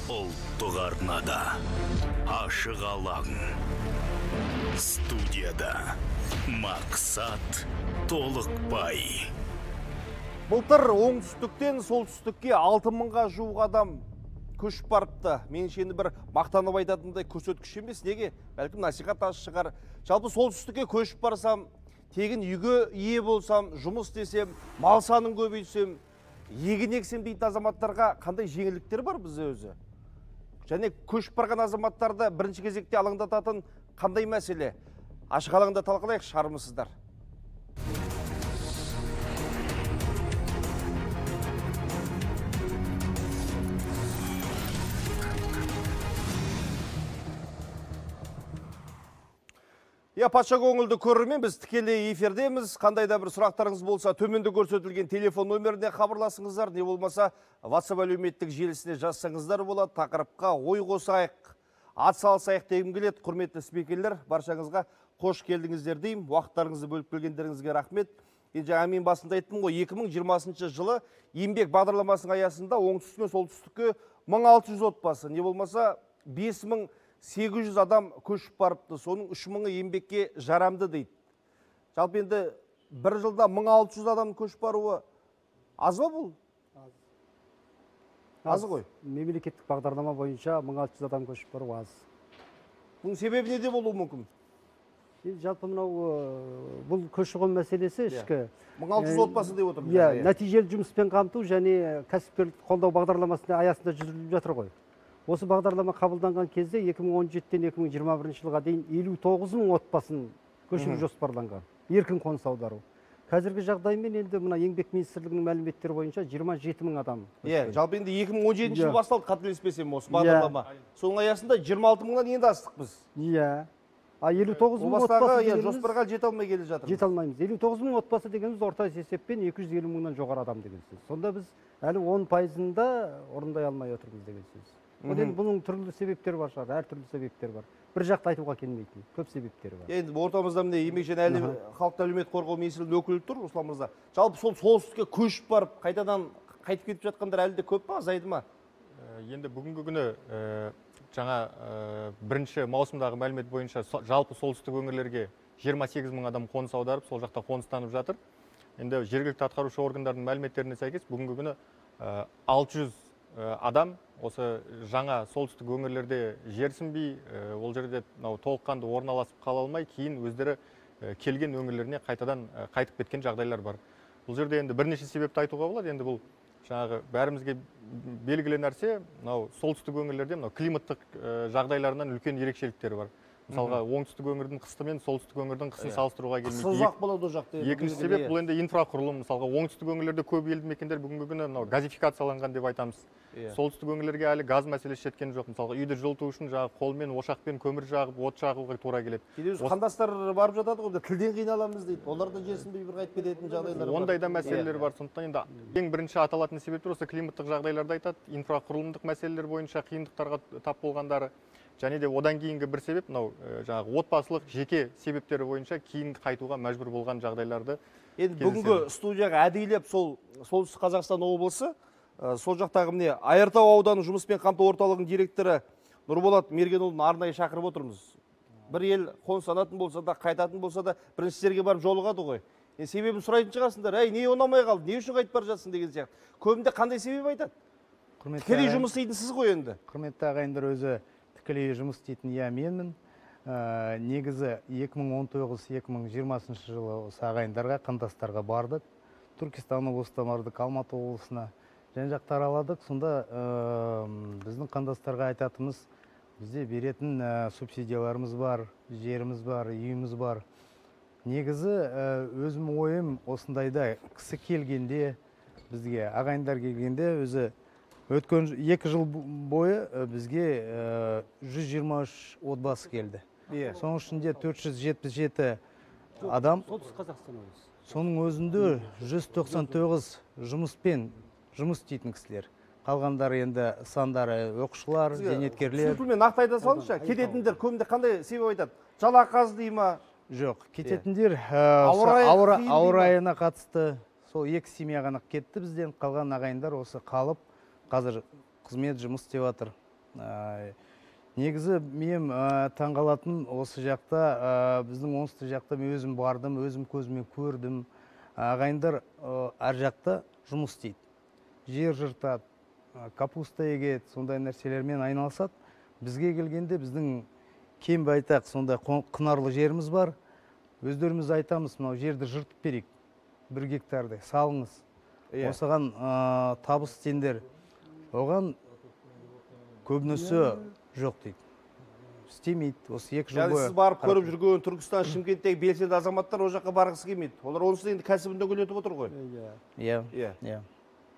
Ұлттық арнада ашық алаң. Студияда Мақсат Толықбай. Былтыр оңтүстіктен солтүстікке 6000-ға жуық адам көшіп барыпты. Меніңше енді бір мақтанып айтатындай көрсеткіш емес. Неге? Бәлкім насихат аз шығар. Жалпы солтүстікке көшіп барсам, тегін үйге ие болсам, жұмыс десем, мал санын көбейтсем, егін ексем дейтін азаматтарға қандай жеңілдіктер бар бізде өзі? Және көшіп барған азаматтарды бірінші кезекте алаңдататын қандай мәселе? Ашық алаңда талқылайық, шығармысыздар. Патша көңілді көрермен, біз тікелей эфирдеміз. Қандай да бір сұрақтарыңыз болса, төменде көрсетілген телефон нөміріне хабарласыңыздар, не болмаса WhatsApp әлеуметтік желісіне жазсаңыздар болады. Тақырыпқа ой қосайық, ат салсайық дегім келеді. Құрметті спикерлер, баршаңызға қош келдіңіздер деймін. Уақыттарыңызды бөліп келгендеріңізге рахмет. Жаңа мен басында айттым ғой, 2020 жылы еңбек бағдарламасының аясында оңтүстіктен солтүстікке 1600 отбасы, не болмаса 5800 адам көшіп барыпты. Соның 3000-ы еңбекке жарамды дейді. Жалпы енді бір жылда 1600 адам көшіп баруы аз ба бұл? Аз ғой. Мемлекеттік бағдарлама бойынша 1600 адам көшіп бару аз. Бұның себебі неде болуы мүмкін? Жалпы бұл көші-қон мәселесі ішкі. 1600 отбасы деп отырмыз. Нәтижелі жұмыспен қамту және кәсіпкерлік қолдау бағдарламасында аясында жүргізіліп жатыр ғой. Осы бағдарлама қабылданған кезде 2017-тен 2021 жылға дейін 59 мың отбасын көшіру жоспарланған. Еркін қоныс аудару. Қазіргі жағдаймен енді мына еңбек министрлігінің мәліметтері бойынша 27 мың адам. Жалпы енді 2017 жыл басталды, қателеспесем осы бағдарлама. Соның аясында 26 мыңнан енді астық біз. 59 мың отбасы дегеніміз жоспарға жете алмай келе жатырмыз. Жете алмаймыз. 59 мың отбасы дегеніміз орта есеппен 250 мыңнан жоғары адам деген сөз. Сонда біз әлі 10%-ында орындай алмай отырмыз деген сөз. Бұның түрлі себептері бар шығар, әртүрлі себептер бар. Бір жақты айтуға келмейтін, көп себептері бар. Енді ортамызда міне еңбек және халықты әлеуметтік қорғау министрлігінің өкілі тұр, Руслан мырза. Жалпы сол солтүстікке көшіп барып, қайтадан қайтып кетіп жатқандар әлі де көп па, азайды ма? Енді бүгінгі күні жаңа бірінші маусымдағы мәлімет бойынша жалпы солтүстік өңірлерге 28 мың адам қоныс аударып, сол жақта қоныстанып жатыр. Енді жергілікті атқарушы органдардың мәліметтеріне сәйкес бүгінгі күні 600 адам осы жаңа солтүстік өңірлерде жерсінбей, ол жерде толыққанды орналасып қала алмай, кейін өздері келген өңірлеріне қайтадан қайтып кеткен жағдайлар бар. Бұл жерде енді бірнеше себепті айтуға болады. Енді бұл жаңағы бәрімізге белгілі нәрсе, солтүстік өңірлерде климаттық жағдайларынан үлкен ерекшеліктері бар. Мысалға, оңтүстік өңірдің қысты мен солтүстік өңірдің қысын салыстыруға келмейді. Қысы ұзақ болады ол жақта. Екінші себеп бұл енді инфрақұрылым. Мысалға, оңтүстік өңірлерде көп елді мекендер бүгінгі күні газификацияланған деп айтамыз. Солтүстік өңірлерге әлі газ мәселесі жеткен жоқ. Мысалға, үйді жылыту үшін қолмен, ошақпен көмір жағып, от жағуға тура келеді. Қандастар барып жатады ғой, тілден қиналамыз дейді. Олар да жерсінбей бір қайтып кететін жағдайлар бар. Ондай да мәселелер бар. Сондықтан енді ең бірінші аталатын себептер осы климаттық жағдайларды айтады. Инфрақұрылымдық мәселелер бойынша қиындықтарға тап болғандары. Және де одан кейінгі бір себеп, жаңағы отбасылық жеке себептері бойынша кейін қайтуға мәжбүр болған жағдайларды. Енді бүгінгі студияға әдейілеп солтүстік Қазақстан облысы, сол жақтағы міне Айыртау ауданы жұмыспен қамту орталығының директоры Нұрболат Мергенұлын арнайы шақырып отырмыз. Бір ел қоныстанатын болса да, қайтатын болса да, бірінші жерге барып жолығады ғой. Себебін сұрайтын шығарсыңдар, не ұнамай қалды, не үшін қайтып бара жатсың деген сияқты. Көбінде қандай себеп айтады? Тікелей жұмыс істейтін сіз ғой енді. Құрметті ағайындар, өзі тікелей жұмыс істейтін менмін. Негізі 2019-2020 жылы осы ағайындарға, қандастарға бардық. Түркістан облысына бардық, Алматы облысына жан жақты араладық. Сонда біздің қандастарға айтатымыз, бізде беретін субсидияларымыз бар, жеріміз бар, үйіміз бар. Негізі өзім ойым осындайда кісі келгенде, бізге ағайындар келгенде, өзі өткен 2 жыл бойы бізге 123 отбасы келді. Соның ішінде 477 адам. Солтүстік Қазақстан облысы. Соның өзінде 199 жұмыс істейтін кісілер. Қалғандары енді сандары оқушылар, зейнеткерлер. Түсінікпен нақты айта салыңызшы, кететіндер көбінде қандай себеп айтады? Жалақы аз дей ма? Жоқ, кететіндер ауа райына қатысты. Сол 2 семья ғана кетті бізден, қалған ағайындар осы қалып, қазір қызмет жұмыс істеп жатыр. Негізі мен таңғалатын осы жақта, біздің оңтүстік жақта мен өзім бардым, өзім көзіммен көрдім. Ағайындар әр жақта жұмыс істейді. Жер жыртады, капуста егеді, сондай нәрселермен айналысады. Бізге келгенде біздің кем байтақ сондай құнарлы жеріміз бар. Өздеріміз айтамыз, мынау жерді жыртып берейік, 1 гектарды салыңыз. Осыған табыс сендер. Оған көбінесе жоқ дейді. Істемейді. Осы 2 жыл бойы. Сіз барып көріп жүрген Түркістан, Шымкенттегі белсенді азаматтар о жаққа барғысы келмейді. Олар онсыз енді кәсібін дөңгелетіп отыр ғой. Иә.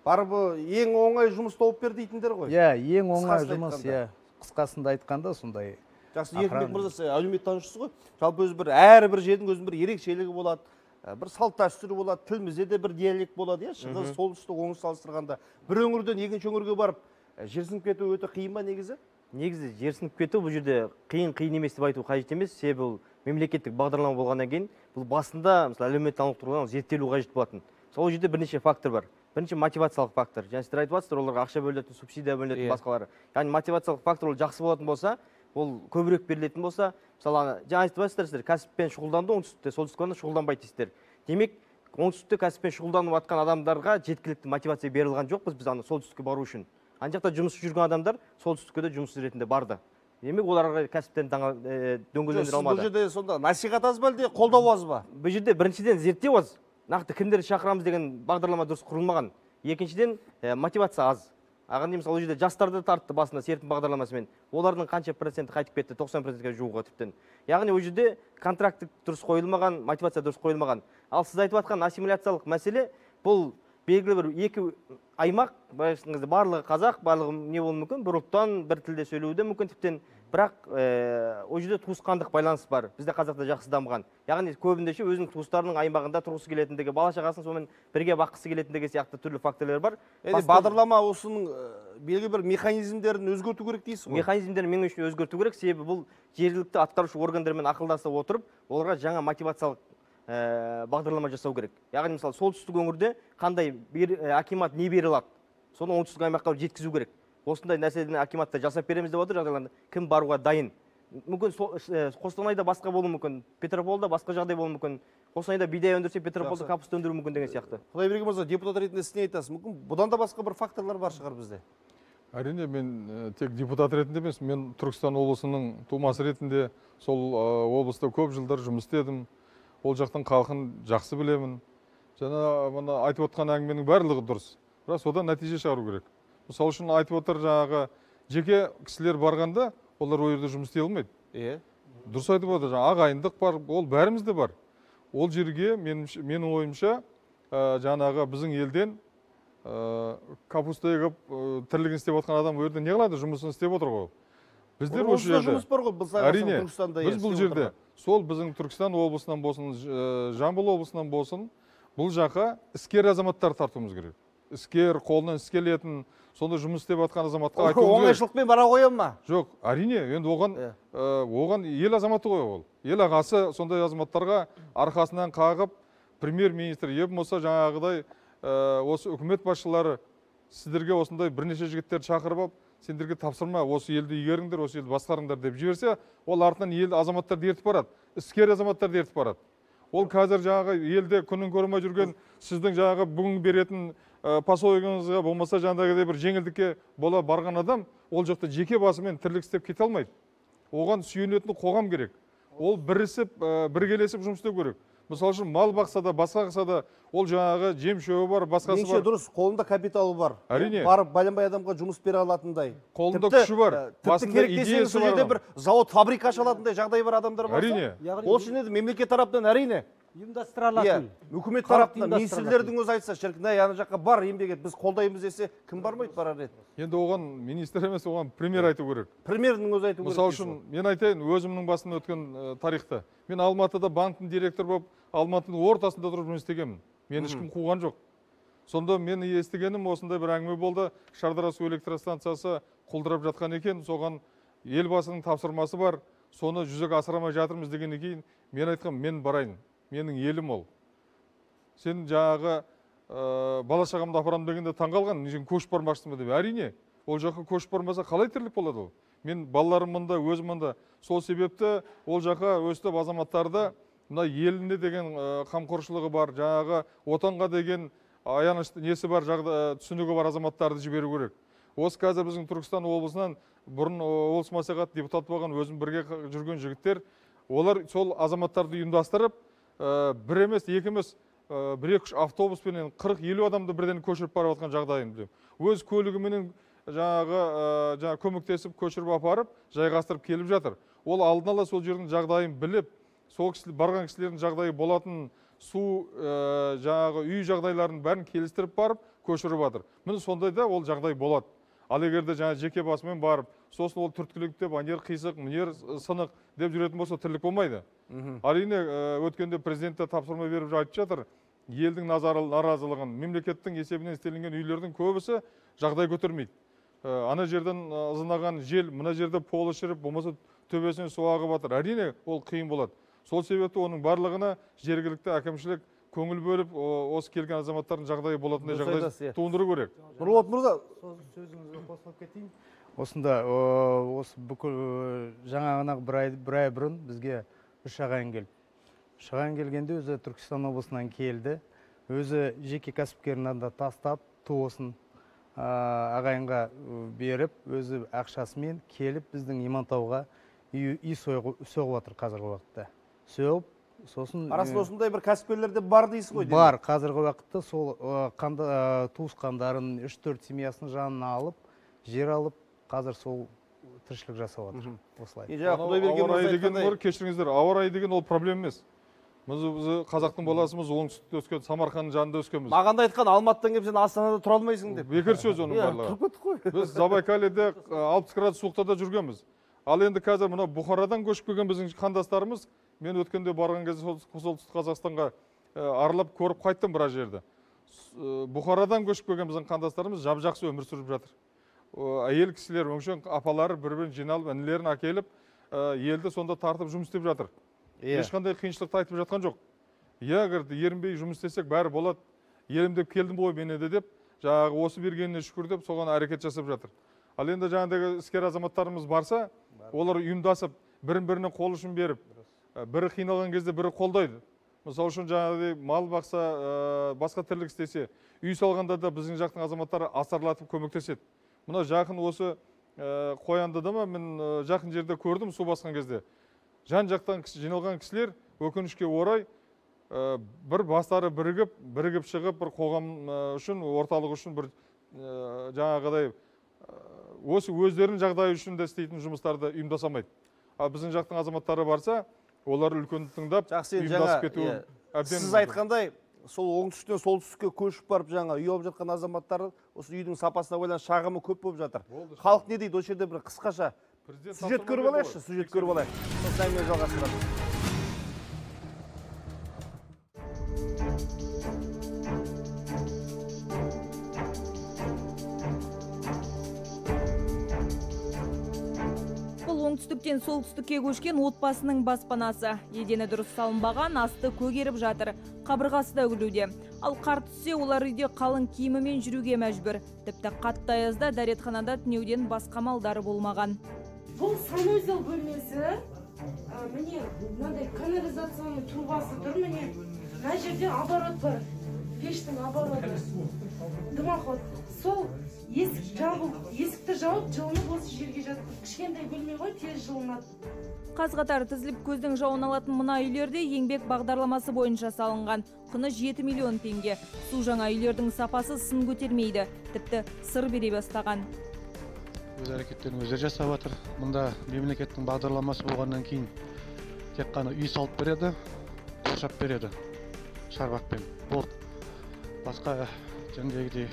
Барып ең оңай жұмыс тауып бер дейтіндер ғой. Иә, ең оңай жұмыс, иә. Қысқасында айтқанда сондай. Жақсы, Еркінбек мырза, әлеуметтанушысыз ғой. Жалпы өзі әрбір жердің өзінің бір ерекшелігі болады, бір салт дәстүрі болады, тілімізде де бір диалект болады, шығыс, солтүстік, оңтүстік салыстырғанда. Бір өңірден екінші өңірге барып, жерсініп кету өте қиын ба негізі? Негізі жерсініп кету бұл жерде қиын емес деп айту қажет емес. Себебі бұл мемлекеттік бағдарлама болғаннан кейін бұл басында мысалы әлеуметтанулық тұрғыдан зерттелу қажет болатын. Сол жерде бірнеше фактор бар. Бірінші мотивациялық фактор. Және сіздер айтып жатсыздар, оларға ақша бөлінетін, субсидия бөлінетін басқалары. Яғни мотивациялық фактор ол жақсы болатын болса, ол көбірек берілетін болса, мысалы жаңа айтып жатсыздар, сіздер кәсіппен шұғылданды, оңтүстікте, солтүстікте шұғылданбайды дейсіздер. Демек, оңтүстікте кәсіппен шұғылданып жатқан адамдарға жеткілікті мотивация берілген жоқ, біз ана солтүстікке бару үшін. Ана жақта жұмыс жүрген адамдар солтүстікке де жұмыс ретінде барды. Демек, оларға кәсіптен дөңгелендіре алмады. Бұл жерде сонда насихат аз ба әлде қолдау аз ба? Бұл жерде біріншіден зерттеу аз. Нақты кімдерді шақырамыз деген бағдарлама дұрыс құрылмаған. Екіншіден мотивация аз. Ағын мысалы ол жерде жастарды тартты басында серпін бағдарламасымен. Олардың қанша проценті қайтып кетті? 90%-ге жуығы тіптен. Яғни ол жерде контракт дұрыс қойылмаған, мотивация дұрыс қойылмаған. Ал сіз айтып жатқан ассимиляциялық мәселе бұл белгілі бір 2 аймақ, барлығы қазақ, барлығы не болуы мүмкін, бір ұлттан бір тілде сөйлеуі мүмкін тіптен. Бірақ ол жерде туысқандық байланыс бар. Бізде қазақта жақсы дамыған. Яғни көбінде өзінің туыстарының аймағында тұрғысы келетіндігі, бала шағасын сонымен бірге баққысы келетіндігі сияқты түрлі факторлар бар. Бағдарлама осының белгілі бір механизмдерін өзгерту керек дейсіз ғой? Механизмдерін мен үшін өзгерту керек, себебі бұл жергілікті атқарушы органдармен ақылдаса отырып, оларға жаңа мотивациялық бағдарлама жасау керек. Яғни мысалы солтүстік өңірде қандай акимат не бере алады, соны оңтүстік аймаққа жеткізу керек. Осындай нәрседен акиматта жасап береміз деп отыр, жағдайларда кім баруға дайын. Мүмкін Қостанайда басқа болуы мүмкін, Петропавлда басқа жағдай болуы мүмкін. Қостанайда бидай өндірсе, Петропавлда капуста өндіру мүмкін деген сияқты. Құдайберген мырза, депутат ретінде сіз не айтасыз? Мүмкін бұдан да басқа бір факторлар бар шығар бізде? Әрине, мен тек депутат ретінде емес, мен Түркістан облысының тумасы ретінде сол облыста көп жылдар жұмыс істедім. Ол жақтың халқын жақсы білемін. Жаңа мына айтып отқан әңгіменің барлығы дұрыс. Бірақ содан нәтиже шығару керек. Мысалы үшін айтып отыр, жаңағы жеке кісілер барғанда, олар ол жерде жұмыс істей алмайды. Дұрыс айтып отыр, ағайындық бар, ол бәрімізде бар. Ол жерге менің ойымша жаңағы біздің елден капуста егіп тірлігін істеп отқан адам ол жерде не қылады, жұмысын істеп отыр ғой. Біздер осы жерде әрине біз бұл жерде сол біздің Түркістан облысынан болсын, Жамбыл облысынан болсын, бұл жаққа іскер азаматтар тартуымыз керек. Іскер, қолынан іс келетін, сонда жұмыс істеп жатқан азаматқа айтуымыз керек. Оңайшылықпен бара қоям ма? Жоқ, әрине, енді оған ел азаматы ғой ол. Ел ағасы сондай азаматтарға арқасынан қағып, премьер-министр еп болса жаңағыдай осы үкімет басшылары сіздерге осындай бірнеше жігіттерді шақырып алып, сендерге тапсырма, осы елді игеріңдер, осы елді басқарыңдар деп жіберсе, ол артынан ел азаматтарды ертіп барады, іскер азаматтарды ертіп барады. Ол қазір жаңағы елде күнін көрмей жүрген сіздің жаңағы бүгін беретін поселогыңызға болмаса жаңағыдай бір жеңілдікке бола барған адам, ол жақта жеке басымен тірлік істеп кете алмайды. Оған сүйенетін қоғам керек. Ол бірісіп, біргелесіп жұмыс істеу керек. Мысалы үшін мал бақса да, басқа қылса да, ол жаңағы жем шөбі бар, басқасы бар. Дұрыс, қолында капиталы бар. Әрине. Барып байланбай адамға жұмыс бере алатындай. Қолында күші бар. Тіпті керек десеңіз сол жерде бір завод, фабрика аша алатындай жағдай бар адамдар бар. Әрине. Ол үшін еді мемлекет тарапынан әрине. Ұйымдастыра алатын. Үкімет тарапынан министрлердің өзі айтса, шіркін, ана жаққа бар еңбек ет, біз қолдаймыз десе, кім бармайды барар еді? Енді оған министр емес, оған премьер айту керек. Премьердің өзі айту керек. Мысалы үшін, мен айтайын, өзімнің басымнан өткен тарихта. Мен Алматыда банктің директор болып, Алматының ортасында тұрып жұмыс істегенмін. Мен ешкім қуған жоқ. Сонда мен естігенім осындай бір әңгіме болды. Шардара су электростанциясы құлдырап жатқан екен, соған елбасының тапсырмасы бар. Соны жүзеге асырамай жатырмыз дегеннен кейін мен айтқам, мен барайын. Менің елім ол. Сен жаңағы бала шағамды апарам дегенде таңғалған, сен көшіп бармақсың ба деп. Әрине, ол жаққа көшіп бармаса қалай тірлік болады ол? Мен балаларым мұнда, өзім мұнда. Сол себепті ол жаққа өстіп азаматтарды мына еліне деген қамқоршылығы бар, жаңағы отанға деген аянышты несі бар, түсінігі бар азаматтарды жіберу керек. Осы қазір біздің Түркістан облысынан бұрын облыс мәслихат депутат болған өзім бірге жүрген жігіттер, олар сол азаматтарды ұйымдастырып, бір емес, екі емес, бір-екі автобуспенен 40-50 адамды бірден көшіріп барып жатқан жағдайын білем. Өз көлігіменен жаңағы көмектесіп, көшіріп апарып, жайғастырып келіп жатыр. Ол алдын ала сол жердің жағдайын біліп, сол барған кісілердің жағдайы болатын су, жаңағы үй жағдайларын бәрін келістіріп барып, көшіріп жатыр. Міне сондайда ол жағдай болады. Ал егерде жаңа жеке басымен барып, сосын ол түрткілік деп, анер қисық, мінер сынық деп жүретін болса, тірлік болмайды. Әрине, өткенде президентті тапсырма беріп айтып жатыр, елдің наразылығын, мемлекеттің есебінен істелінген үйлердің көбісі жағдай көтермейді. Ана жерден ызынаған жел, мына жерде полы шіріп, болмаса төбесінен су ағып жатыр. Әрине, ол қиын болады. Сол себепті оның барлығына жергілікті әкімшілік көңіл бөліп, осы келген азаматтардың жағдайы болатындай жағдай туындыру керек. Нұрболат мырза, сөзіңізге қосылып кетейін. Осында осы бүкіл жаңағына бір ай бұрын бізге үш ағайын келді. Үш ағайын келгенде өзі Түркістан облысынан келді. Өзі жеке кәсіпкерін да тастап, туысын ағайынға беріп, өзі ақшасымен келіп біздің Имантауға үй соғып жатыр қазіргі уақытта. Соғып, сосын арасында осындай бір кәсіпкерлерде бар дейсіз ғой? Бар, қазіргі уақытта сол туысқандарын 3-4 семьясын жанына алып, жер алып, қазір сол тіршілік жасап жатыр. Осылай. Ауа райы деген бар, кешіріңіздер, ауа райы деген ол проблема емес. Біз қазақтың баласымыз, оңтүстікте өскен, Самарқанның жанында өскенбіз. Маған айтқан, Алматыдан келіп сен Астанада тұра алмайсың деп. Бекер сөз оның барлығы. Біз Забайкальеде 60 градус суықтарда жүргенбіз. Ал енді қазір мына Бұхарадан көшіп келген біздің қандастарымыз, мен өткенде барған кезде солтүстік Қазақстанға аралап көріп қайттым біраз жерді. Бұхарадан көшіп келген біздің қандастарымыз жап-жақсы өмір сүріп жатыр. Әйел кісілер, өңшен апалары бір-бірін жиналып, інілерін әкеліп, елді сонда тартып жұмыс істеп жатыр. Ешқандай қиыншылықты айтып жатқан жоқ. Егер ерінбей жұмыс істесек бәрі болады. Елімдеп келдім ғой мен де деп, жаңағы осы бергеніне шүкір деп, соған әрекет жасап жатыр. Ал енді жаңағыдағы іскер азаматтарымыз барса, олар ұйымдасып, бірін-біріне қол ұшын беріп, бірі қиналған кезде бірі қолдайды. Мысалы үшін жаңағыдай мал бақса, басқа тірлік істесе, үй салғанда да біздің жақтың азаматтары асарлатып көмектеседі. Мына жақын осы Қояндыда ма, мен жақын жерде көрдім су басқан кезде. Жан жақтан жиналған кісілер өкінішке орай бір бастары бірігіп шығып, бір қоғам үшін, орталық үшін бір жаңағыдай осы өздерінің жағдайы үшін де істейтін жұмыстарды ұйымдасамайды. Ал біздің жақтың азаматтары барса, олар үлкен тыңдап, ұйымдасып кетуі әбден. Сіз айтқандай, сол оңтүстіктен солтүстікке көшіп барып жаңа үй алып жатқан азаматтар осы үйдің сапасына байланысты шағымы көп болып жатыр. Халық не дейді? Осы жерде бір қысқаша сюжет көріп алайықшы, сюжет көріп алайық. Сосын әңгіме жалғастырамыз. Оңтүстіктен солтүстікке көшкен отбасының баспанасы. Едені дұрыс салынбаған, асты көгеріп жатыр. Қабырғасы да үгілуде. Ал қар түссе, олар үйде қалың киімімен жүруге мәжбүр. Тіпті қатты аязда дәретханада түнеуден басқа малдары болмаған. Бұл санузел бөлмесі. Міне, мынандай канализацияның трубасы тұр, міне. Мына жерде оборот бар. Пештің обороты. Дымоход. Сол есікті жауып, жылынып осы жерге жатып. Кішкентай бөлме ғой, тез жылынады. Қаз-қатар тізіліп көздің жауын алатын мына үйлерде еңбек бағдарламасы бойынша салынған. Құны 7 миллион теңге. Су жаңа үйлердің сапасы сын көтермейді. Тіпті сыр бере бастаған. Өз әрекеттерін өздері жасап жатыр. Мұнда мемлекеттің бағдарламасы болғаннан кейін тек қана үй салып береді, қоршап береді шарбақпен. Болды. Басқа жаңағыдай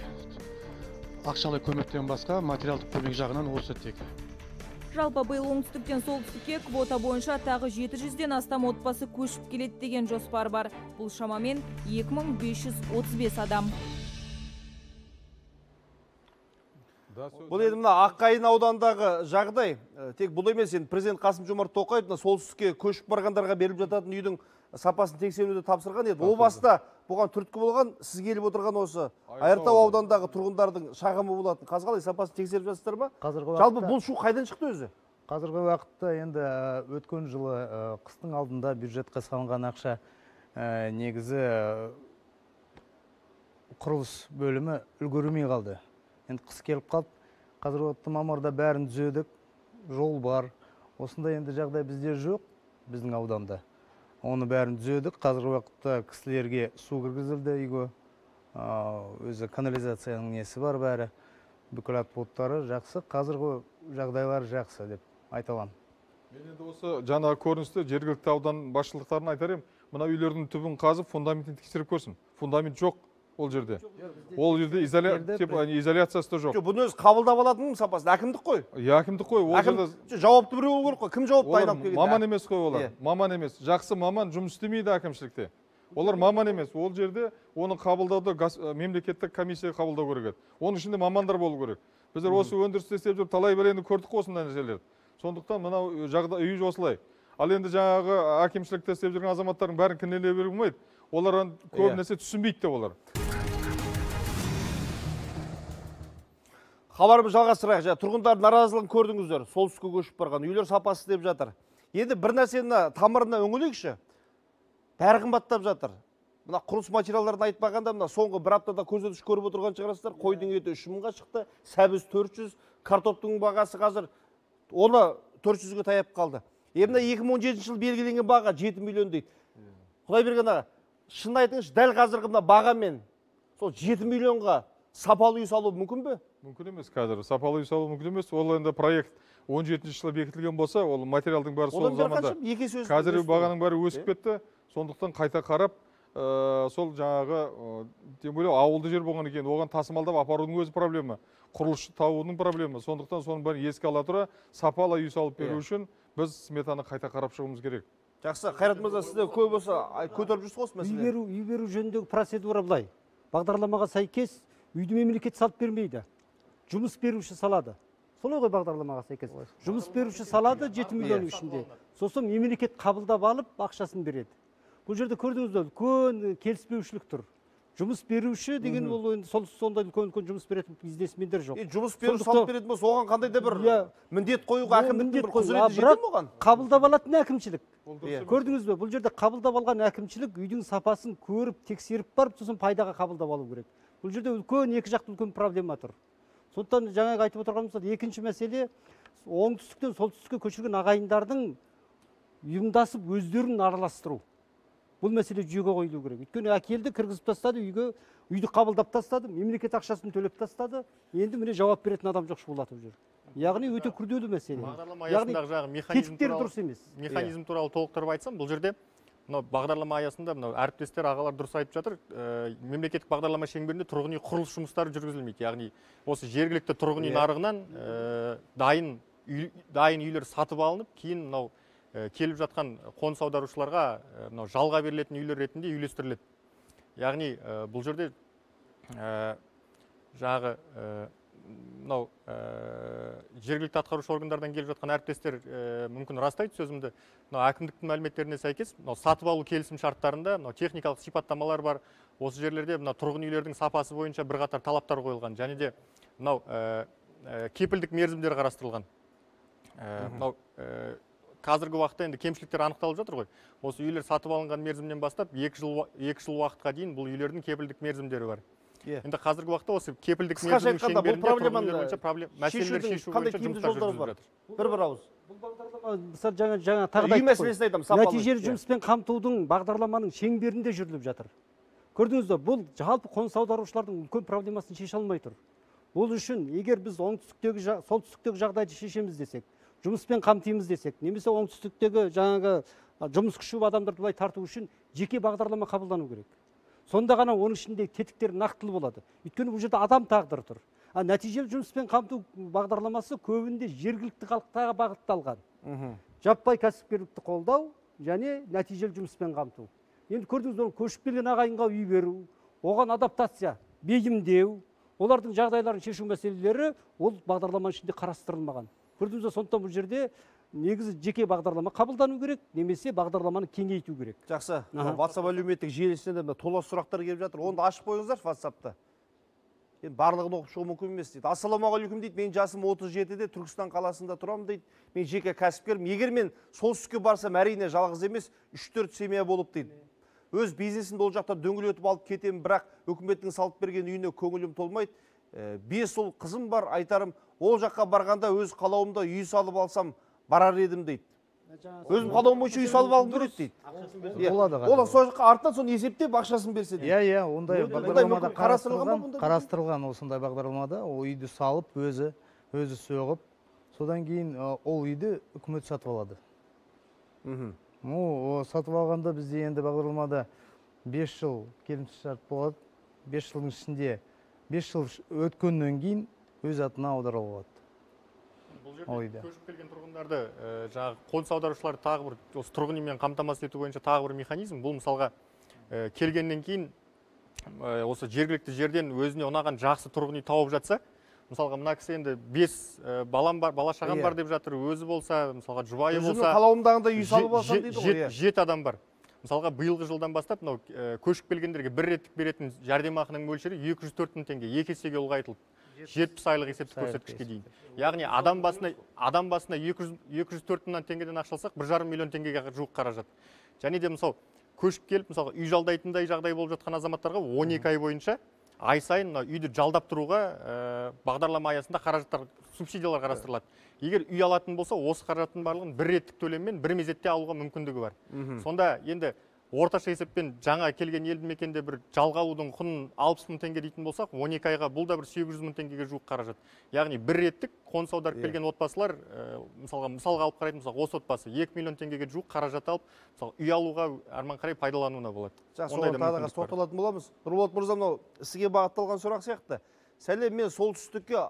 ақшалай көмектен басқа материалдық көмек жағынан осы тек. Жалпы биыл оңтүстіктен солтүстікке квота бойынша тағы 700-ден астам отбасы көшіп келеді деген жоспар бар. Бұл шамамен 2535 адам. Бұл енді мына Аққайын аудандағы жағдай, тек бұл емес, енді президент Қасым-Жомарт Тоқаев солтүстікке көшіп барғандарға беріліп жататын үйдің сапасын тексеруді тапсырған еді. О баста бұған түрткі болған сіз келіп отырған осы Айыртау аудандағы тұрғындардың шағымы болатын. Қазір қалай сапасын тексеріп жатсыздар ма? Жалпы бұл шу қайдан шықты өзі? Қазіргі уақытта енді өткен жылы қыстың алдында бюджетке салынған ақша негізі құрылыс бөлімі үлгермей қалды. Енді қыс келіп қалды. Қазіргі уақытта мамырда бәрін түзедік, жол бар. Осындай енді жағдай бізде жоқ, біздің ауданда. Оны бәрін түзедік. Қазіргі уақытта кісілерге су кіргізілді үйге. Өзі канализацияның несі бар бәрі. Бүкіл отподтары жақсы. Қазіргі жағдайлар жақсы деп айта аламын. Мен енді осы жаңағы көріністі жергілікті аудан басшылықтарына айтар едім. Мына үйлердің түбін қазып, фундаментін тексеріп көрсін. Фундамент жоқ ол жерде. Ол жерде изоляциясы да жоқ. Бұны өзі қабылдап алатын сапасын әкімдік қой. Әкімдік қой. Ол жерде жауапты біреу болу керек қой. Кім жауапты айналып келгенде? Маман емес қой олар. Маман емес. Жақсы маман жұмыс істемейді әкімшілікте. Олар маман емес. Ол жерде оны қабылдауды мемлекеттік комиссия қабылдау керек еді. Оның ішінде мамандар болу керек. Біздер осы өндірісте істеп жүріп талай бір енді көрдік осындай нәрселерді. Сондықтан мынау үй осылай. Ал енді жаңағы әкімшілікте істеп жүрген азаматтардың бәрін кінәлай беруге болмайды. Олар көп нәрсе түсінбейді де олар. Хабарымызды жалғастырайық. Тұрғындар наразылығын көрдіңіздер. Солтүстікке көшіп барған үйлер сапасы деп жатыр. Енді бір нәрсені тамырына өңілейікші. Бәрі қымбаттап жатыр. Мына құрылыс материалдарын айтпағанда, мына соңғы бір аптада көзде түш көріп отырған шығарсыздар. Қойдың еті 3 мыңға шықты, сәбіз 400, картоптың бағасы қазір оны 400-ге таяп қалды. Мына 2017 жыл белгіленген баға 7 миллион дейді. Құдай берген аға, шын айтыңызшы, дәл қазіргі мына бағамен сол 7 миллионға сапалы үй салу мүмкін бе? Мүмкін емес қазір. Сапалы үй салу мүмкін емес. Ол енді проект 17 жылы бекітілген болса, ол материалдың бәрі сол заманда. Қазір бағаның бәрі өсіп кетті. Сондықтан қайта қарап, сол жаңағы тем более ауылды жер болған екен, оған тасымалдап апарудың өзі проблема. Құрылысшы табудың проблема. Сондықтан соның бәрін еске ала тұра, сапалы үй салып беру үшін біз сметаны қайта қарап шығуымыз керек. Жақсы, Қайрат мырза, сізде көп болса көтеріп жүрсіз осы мәселе. Үй беру жөніндегі процедура былай. Бағдарламаға сәйкес үйді мемлекет салып бермейді. Жұмыс беруші салады. Солай ғой бағдарламаға сәйкес. Жұмыс беруші салады 7 миллион ішінде. Сосын мемлекет қабылдап алып ақшасын береді. Бұл жерде көрдіңіз бе, үлкен келіспеушілік тұр. Жұмыс беруші деген ол сондай үлкен жұмыс беретін бизнесмендер жоқ. Жұмыс беруші салып беретін болса, оған қандай да бір міндет қоюға әкімдіктің бір құзыреті жете ме оған? Қабылдап алатын әкімшілік. Көрдіңіз бе, бұл жерде қабылдап алған әкімшілік үйдің сапасын көріп, тексеріп барып, сосын пайдаға қабылдап алу керек. Бұл жерде үлкен екі жақты үлкен проблема тұр. Сондықтан жаңағы айтып отырғанымыз, екінші мәселе оңтүстіктен солтүстікке көшірген ағайындардың ұйымдасып өздерін араластыру. Бұл мәселе жүйеге қойылу керек. Өйткені әкелді, кіргізіп тастады, үйді қабылдап тастады, мемлекет ақшасын төлеп тастады. Енді міне жауап беретін адам жоқ шұғылатып жүр. Яғни өте күрделі мәселе. Яғни тетіктері дұрыс емес. Механизм туралы толықтырып айтсам, бұл жерде бағдарлама аясында әріптестер ағалар дұрыс айтып жатыр. Мемлекеттік бағдарлама шеңберінде тұрғын үй құрылыс жұмыстары жүргізілмейді. Яғни осы жергілікті тұрғын үй нарығынан дайын үйлер сатып алынып, кейін келіп жатқан қоныс аударушыларға жалға берілетін үйлер ретінде үйлестіріледі. Яғни бұл жерде жағы жергілікті атқарушы органдардан келіп жатқан әріптестер мүмкін растайды сөзімді. Әкімдіктің мәліметтеріне сәйкес сатып алу келісім шарттарында техникалық сипаттамалар бар. Осы жерлерде тұрғын үйлердің сапасы бойынша бірқатар талаптар қойылған. Және де кепілдік мерзімдер қарастырылған. Қазіргі уақытта енді кемшіліктер анықталып жатыр ғой. Осы үйлер сатып алынған мерзімнен бастап 2 жыл уақытқа дейін бұл үйлердің кепілдік мерзімдері бар. Енді қазіргі уақытта осы кепілдік мерзімнің шеңберінде тұрғын үйлер бойынша мәселелер шешу бойынша жұмыстар жүргізіліп жатыр. Бір ауыз. Бұл бағдарлама мысалы жаңа тағы да нәтижелі жұмыспен қамтудың бағдарламаның шеңберінде жүріліп жатыр. Көрдіңіз бе, бұл жалпы қоныс аударушылардың үлкен проблемасын шеше алмай тұр. Бұл үшін егер біз солтүстіктегі жағдайды шешеміз десек, жұмыспен қамтимыз десек, немесе оңтүстіктегі жаңағы жұмыс күші адамдарды былай тарту үшін жеке бағдарлама қабылдану керек. Сонда ғана оның ішінде тетіктер нақтылы болады. Өйткені бұл жерде адам тағдыры тұр. Нәтижелі жұмыспен қамту бағдарламасы көбінде жергілікті халықтарға бағытталған. Жаппай кәсіпкерлікті қолдау және нәтижелі жұмыспен қамту. Енді көрдіңіз, көшіп келген ағайынға үй беру, оған адаптация, бейімдеу, олардың жағдайларын шешу мәселелері ол бағдарламаның ішінде қарастырылмаған. Көрдіңіз, сондықтан бұл жерде негізі жеке бағдарлама қабылдану керек, немесе бағдарламаны кеңейту керек. Жақсы. WhatsApp әлеуметтік желісінде де толас сұрақтар келіп жатыр. Оны ашып қойыңыздар WhatsApp'та. Енді барлығын оқып шығу мүмкін емес дейді. Ассалаумағалейкум дейді. Мен жасым 37-де Түркістан қаласында тұрамын дейді. Мен жеке кәсіпкерім. Егер мен солтүстікке барсам, әрине жалғыз емес, 3-4 семья болып дейді. Өз бизнесімді ол жақта дөңгелетіп алып кетемін, бірақ үкіметтің салып берген үйіне көңілім толмайды. 5 ұл қызым бар, айтарым, ол жаққа барғанда өз қалауымда үй салып алсам барар едім дейді. Өзім қалауым бойынша үй салып алғым келеді дейді. Ол сол жаққа артынан соны есептеп ақшасын берсе дейді. Иә, ондай бағдарламада қарастырылған, осындай бағдарламада ол үйді салып, өзі соғып, содан кейін ол үйді үкімет сатып алады. Сатып алғанда бізде енді бағдарламада 5 жыл келісімшарт болады. 5 жылдың ішінде 5 жыл өткеннен кейін өз атына аударылады. Бұл жерде көшіп келген тұрғындарды жаңағы қоныс аударушылар тағы бір осы тұрғын үймен қамтамасыз ету бойынша тағы бір механизм. Бұл мысалға келгеннен кейін осы жергілікті жерден өзіне ұнаған жақсы тұрғын үй тауып жатса, мысалға мына кісі енді 5 балам бар, бала шағам бар деп жатыр, өзі болса, мысалға жұбайы болса, өзінің қалауымдағында үй салып алсам дейді ғой. 7 адам бар. Мысалға биылғы жылдан бастап мынау көшіп келгендерге бір реттік беретін жәрдемақының мөлшері 204 мың теңге, 2 есеге ұлғайтылып 70 айлық есептік көрсеткішке дейін. Яғни адам басына 204 мыңнан теңгеден ақшалсақ 1,5 миллион теңгеге жуық қаражат. Және де мысалы көшіп келіп мысалға үй жалдайтындай жағдай болып жатқан азаматтарға 12 ай бойынша ай сайын үйді жалдап тұруға бағдарлама аясында қаражаттар, субсидиялар қарастырылады. Егер үй алатын болса, осы қаражаттың барлығын бір реттік төлеммен бір мезетте алуға мүмкіндігі бар. Сонда енді орташа есеппен жаңа келген елді мекенде бір жалға алудың құнын 60 мың теңге дейтін болсақ, 12 айға бұл да бір 800 мың теңгеге жуық қаражат. Яғни бір реттік қоныс аударып келген отбасылар, мысалға алып қарайтын болсақ, осы отбасы 2 миллион теңгеге жуық қаражат алып, мысалы үй алуға арман қарай пайдалануына болады. Жақсы, оған тағы да тоқталатын боламыз. Нұрболат мырза, мынау сізге бағытталған сұрақ сияқты. Сәлем, мен солтүстікке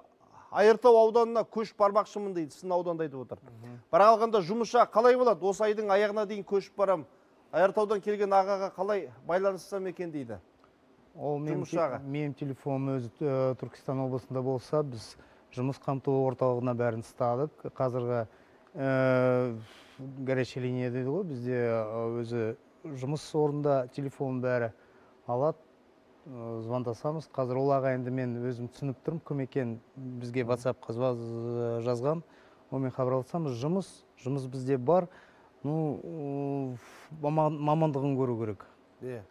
Айыртау ауданына көшіп бармақшымын дейді, сіздің ауданда айтып отыр. Бірақ алғанда жұмысша қалай болады? Осы айдың аяғына дейін көшіп барам. Айыртаудан келген ағаға қалай байланыстырсам екен дейді. Ол менің телефоным өзі Түркістан облысында болса, біз жұмыс қамту орталығына бәрін ұстадық. Қазіргі горячая линия дейді ғой, бізде өзі жұмыс орнында телефон бәрі алады. Звондасамыз. Қазір ол ағайынды мен өзім түсініп тұрмын, кім екен, бізге WhatsApp-қа жазған. Онымен хабарласамыз, жұмыс бізде бар. Мамандығын көру керек.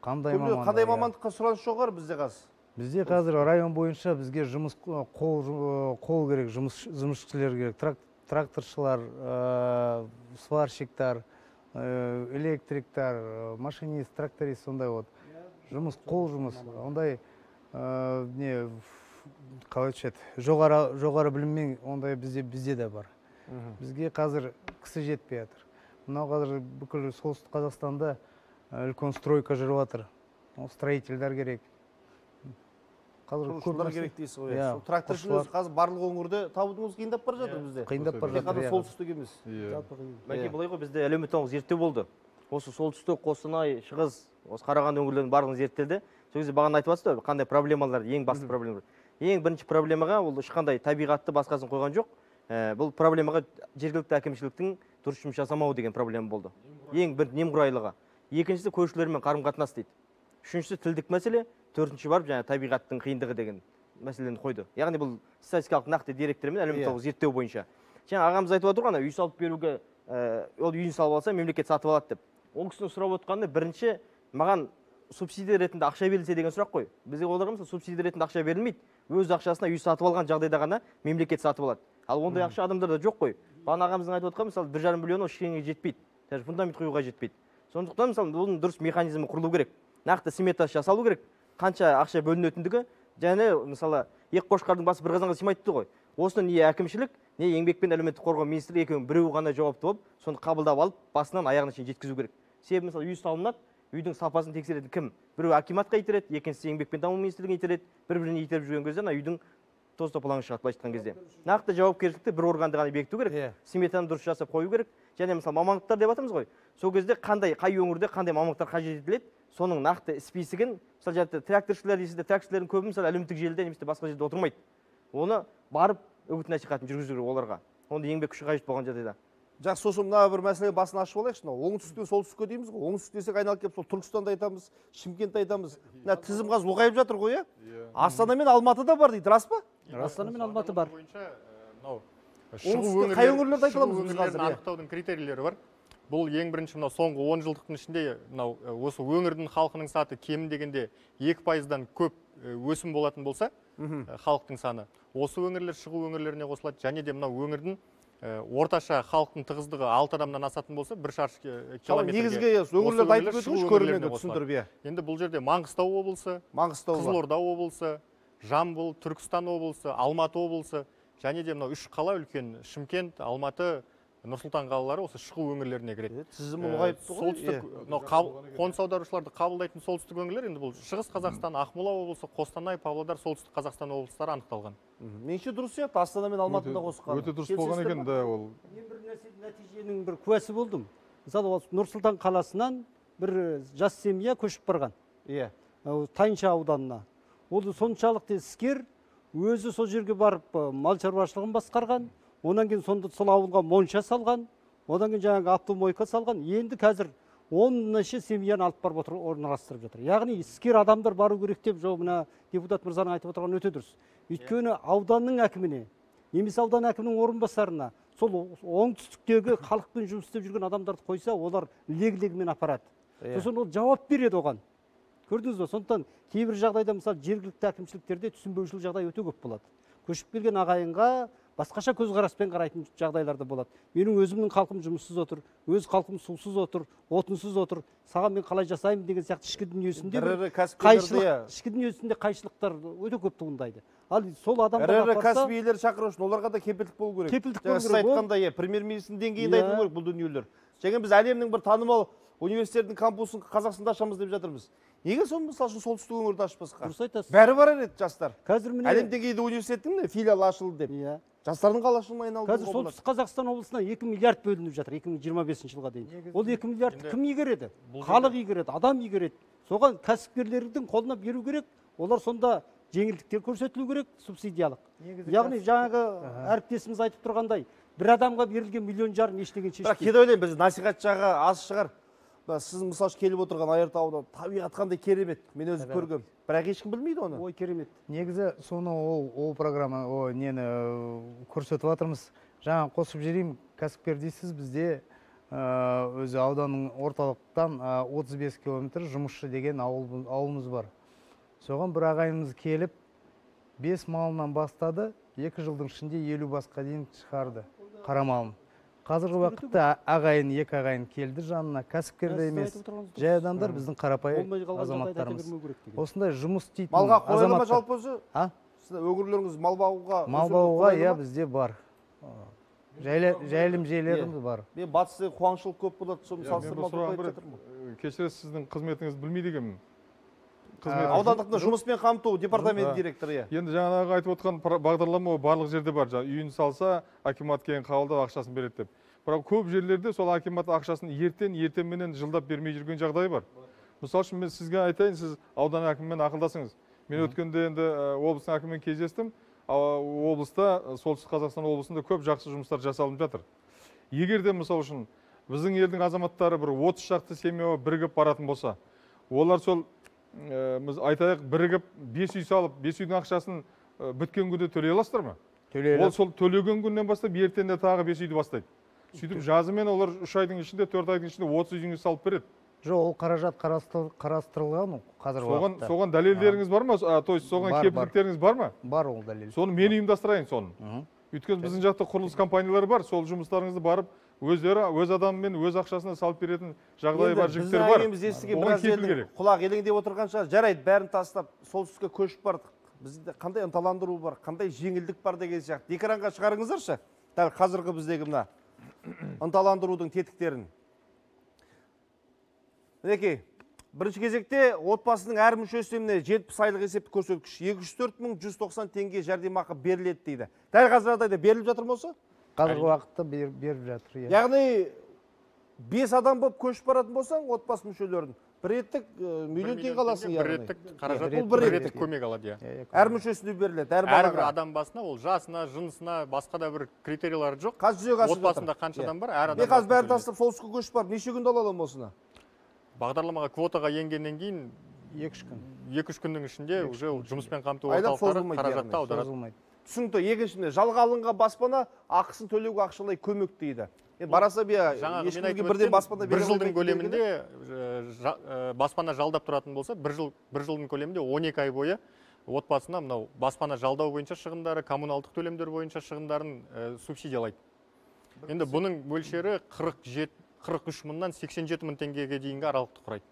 Қандай мамандыққа сұраныс жоғары бізде қазір? Бізде қазір район бойынша бізге жұмыс қол керек, жұмысшылар керек. Тракторшылар, сварщиктар, электриктар, машинист, тракторист, сондай вот. Жұмыс, қол жұмыс, ондай жоғары біліммен ондай бізде де бар. Бізге қазір кісі жетпей жатыр. Мынау қазір бүкіл солтүстік Қазақстанда үлкен стройка жүріп жатыр. Строительдер керек. Құрылысшылар керек дейсіз ғой. Тракторшыны өзі қазір барлық өңірде табудыңыз қиындап бара жатыр бізде. Қиындап бара жатыр. Қана солтүстік емес. Мәке, былай ғой, бізде әлеуметтік зерттеу болды. Осы солтүстік, Қостанай, Шығыс, осы Қарағанды өңірлерінің барлығын зерттелді. Сол кезде бағана айтып жатсыз, қандай проблемалар, ең басты проблемалар. Ең бірінші проблемаға ол ешқандай табиғатты басқасын қойған жоқ. Бұл проблемаға жергілікті әкімшіліктің дұрыс жұмыс жасамауы деген проблема болды. Ең бір немқұрайлығы. Екіншісі көршілермен қарым-қатынас дейді. Үшіншісі тілдік мәселе, төртінші барып жаңа табиғаттың қиындығы деген мәселені қойды. Яғни бұл статистикалық нақты деректермен әлеуметтік зерттеу бойынша. Жаңа ағамыз айтып отыр ғой, үй салып беруге, ол үйін салып алса, мемлекет сатып алады деп. Ол кісінің сұрап отқаны бірінші маған субсидия ретінде ақша берілсе деген сұрақ қой. Бізге оларға субсидия ретінде ақша берілмейді. Өз ақшасына үй сатып алған жағдайда ғана мемлекет сатып алады. Ал ондай ақша адамдарда жоқ қой. Бағана ағамыздың айтып отқан мысалы 1,5 миллион ештеңеге жетпейді. Даже фундамент құюға жетпейді. Сондықтан мысалы оның дұрыс механизмі құрылу керек. Нақты сметасы жасалу керек. Қанша ақша бөлінетіндігі, және мысалы екі қошқардың басы бір қазанға сыймайды ғой. Осыны не әкімшілік, не еңбек пен әлеуметтік қорғау министрлігі екеуінің біреуі ғана жауапты болып, соны қабылдап алып, басынан аяғына шейін жеткізу керек. Себебі мысалы үй салынады, үйдің сапасын тексеретін кім? Біреу акиматқа итереді, екіншісі еңбек пен даму министрлігіне итереді, бір-біріне итеріп жүрген кезде үйдің тоз топалаңы шығады, былайша айтқан кезде. Нақты жауапкершілікті бір органды ғана бекіту керек, сметаны дұрыс жасап қою керек. Және мысалы мамандықтар деп жатырмыз ғой. Сол кезде қай өңірде қандай мамандықтар қажет етіледі, соның нақты списігін, мысалы жаңағы тракторшылар дейсіздер, тракторшылардың көбі мысалы әлеуметтік желіде немесе басқа жерде отырмайды. Оны барып үгіт насихатын жүргізу керек оларға. Онда еңбек күші қажет болған жағдайда. Жақсы, сосын мына бір мәселе басын ашып алайықшы. Оңтүстіктен солтүстікке дейміз ғой. Оңтүстік десек айналып келіп сол Түркістанды айтамыз, Шымкентті айтамыз. Мына тізім қазір ұлғайып жатыр ғой, иә? Астана мен Алматыда бар дейді, рас па? Астана мен Алматы бар. Оңтүстікте қай өңірлерді айта аламыз біз қазір? Анықтаудың критерийлері бар. Бұл ең бірінші мынау соңғы 10 жылдықтың ішінде мынау осы өңірдің халқының саны кем дегенде 2%-дан көп өсім болатын болса, халықтың саны осы өңірлер шығу өңірлеріне қосылады. Және де мынау өңірдің орташа халықтың тығыздығы 6 адамнан асатын болса, 1 шаршы километрге. Негізгі өңірлерді айтып өтіңіз, көрерменге түсіндіріп. Енді бұл жерде Маңғыстау облысы, Қызылорда облысы, Жамбыл, Түркістан облысы, Алматы облысы, және де мынау 3 қала үлкен Шымкент, Алматы, Нұрсұлтан қалалары осы шығу өңірлеріне кіреді. Тізім ұлғайып тұр ғой. Қоныс аударушыларды қабылдайтын солтүстік өңірлер, енді бұл Шығыс Қазақстан, Ақмола облысы, Қостанай, Павлодар, солтүстік Қазақстан облыстары анықталған. Меніңше дұрыс сияқты, Астана мен Алматыда қосқан. Өте дұрыс болған екен да ол. Мен бір нәтиженің бір куәсі болдым. Мысалы, Нұрсұлтан қаласынан бір жас семья көшіп барған. Иә. Тайынша ауданына. Ол соншалықты іскер, өзі сол жерге барып мал шаруашылығын басқарған. Онан кейін сонда сол ауылға монша салған, одан кейін жаңағы автомойка салған. Енді қазір 10 семьяны алып барып отыр, орналастырып жатыр. Яғни іскер адамдар бару керек деп мына депутат мырзаның айтып отырған өте дұрыс. Өйткені ауданның әкіміне, немесе аудан әкімінің орынбасарына сол оңтүстіктегі халықпен жұмыс істеп жүрген адамдарды қойса, олар лег-легімен апарады. Сосын ол жауап береді оған. Көрдіңіз бе? Сондықтан кейбір жағдайда мысалы жергілікті әкімшіліктерде түсінбеушілік жағдай өте көп болады. Көшіп келген ағайынға басқаша көзқараспен қарайтын жағдайларда болады. Менің өзімнің халқым жұмыссыз отыр, өз халқым сусыз отыр, отынсыз отыр. Саған мен қалай жасаймын деген сияқты ішкі дүниесінде қайшылықтар өте көп туындайды. Ал сол адамдар кәсібилер шақыру үшін оларға да кепілдік болу керек. Кепілдік болу керек. Айтқандай, премьер-министрдің деңгейінде айтылу керек бұл дүниелер. Және біз әлемнің бір танымал университетінің кампусын Қазақстанда ашамыз деп жатырмыз. Неге соны мысалы үшін солтүстік өңірді ашпасқа? Дұрыс айтасыз. Бәрі бар еді жастар. Қазір міне әлем деңгейде университеттің филиалы ашылды деп. Жастардың қалашылығына айналды. Қазір солтүстік Қазақстан облысына 2 миллиард бөлініп жатыр 2025 жылға дейін. Ол 2 миллиардты кім игереді? Халық игереді, адам игереді. Соған кәсіпкерлердің қолына беру керек. Олар сонда жеңілдіктер көрсетілу керек, субсидиялық. Яғни жаңағы әріптесіміз айтып тұрғандай, бір адамға берілген 1,5 миллион ештеңе шешпейді. Бірақ кейде ойлаймын, біз насихат жағы аз шығар. Сіз мысалы келіп отырған Айыртауда табиғат қандай керемет, мен өзім көргем. Бірақ ешкім білмейді оны. Ой, керемет. Негізі соны ол программа, нені көрсетіп жатырмыз. Жаңа қосып жіберейін, кәсіпкер дейсіз, бізде өзі ауданның орталықтан 35 километр жұмысшы деген ауылымыз бар. Соған бір ағайымыз келіп, 5 малынан бастады, 2 жылдың ішінде 50 басқа дейін шығарды қара малын. Қазіргі уақытта ағайын, 2 ағайын келді жанына, кәсіпкерді емес, жай адамдар біздің қарапайым азаматтарымыз. Осындай жұмыс істейтін малға қойылы ма жалпы өзі? Өңірлеріңіз мал бағуға? Мал бағуға, иә, бізде бар. Жайылым жерлеріміз бар. Мен батыста қуаңшылық көп болады, соны салыстырмалы айтып жатырмын. Кешіресіз, сіздің қызметіңізді білмейді екенмін. Аудандық жұмыспен қамту департамент директоры. Енді жаңағы айтып отқан бағдарлама барлық жерде бар. Үйін салса, акимат кейін қабылдап ақшасын береді деп. Бірақ көп жерлерде сол акимат ақшасын ертеменен жылдап бермей жүрген жағдай бар. Мысалы үшін мен сізге айтайын, сіз аудан әкімімен ақылдасыңыз. Мен өткенде енді облыстың әкімімен кездестім. Облыста, солтүстік Қазақстан облысында көп жақсы жұмыстар жасалынып жатыр. Егер де мысалы үшін біздің елдің азаматтары бір 30 шақты семья бірігіп баратын болса, олар сол айтайық бірігіп 5 үй салып, 5 үйдің ақшасын біткен күнде төлей аласыздар ма? Ол сол төлеген күннен бастап ертеңде тағы 5 үйді бастайды. Сөйтіп жазымен олар 3 айдың ішінде, 4 айдың ішінде 30 үйіңіз салып береді. Жоқ, ол қаражат қарастырылған қазіргі уақытта. Соған дәлелдеріңіз бар ма? То есть соған кепілдіктеріңіз бар ма? Бар ол дәлел. Соны мен ұйымдастырайын соны. Өйткені біздің жақта құрылыс компаниялары бар, сол жұмыстарыңызды барып өздері өз адамымен өз ақшасына салып беретін жағдайы бар жігіттер бар. Оған кепіл керек. Құлақ елеңдеп отырғанша жарайды, бәрін тастап солтүстікке көшіп бардық. Бізде қандай ынталандыру бар, қандай жеңілдік бар деген сияқты. Экранға шығарыңыздаршы. Дәл қазіргі біздегі мына ынталандырудың тетіктерін. Мінекей, бірінші кезекте отбасының әр мүшесіне 70 айлық есептік көрсеткіш 204.190 теңге жәрдемақы беріледі дейді. Дәл қазір жағдайда беріліп жатыр ма осы? Қазіргі уақытта беріп жатыр. Яғни 5 адам болып көшіп баратын болсаң, отбасы мүшелерін Бір реттік миллион теңге аласың бір яғни. реттік қаражат, Бұл бір реттік көмек алады. Әр мүшесіне беріледі, әр Әрбір балаға. адам басына, ол жасына, жынысына, басқа да бір критериялары жоқ. Қазір жүзеге асып жатыр. Отбасында қанша адам бар, әр адам. Мен қазір бәрін тастап солтүстікке көшіп барып, неше күнде ала аламын осыны? Бағдарламаға квотаға енгеннен кейін 2-3 күн. 2-3 күннің ішінде уже жұмыспен қамту Айлап орталықтары созылмайды қаражатты аударады. Түсінікті. Екіншісінде жалға алынған баспана ақысын төлеуге ақшалай көмек дейді. Бараса ешкімге бірден баспана бір жылдың көлемінде баспана жалдап тұратын болса, бір жылдың көлемінде 12 ай бойы отбасына мынау баспана жалдау бойынша шығындары, коммуналдық төлемдер бойынша шығындарын субсидиялайды. Енді бұның мөлшері 43 мыңнан 87 мың теңгеге дейінгі аралықты құрайды.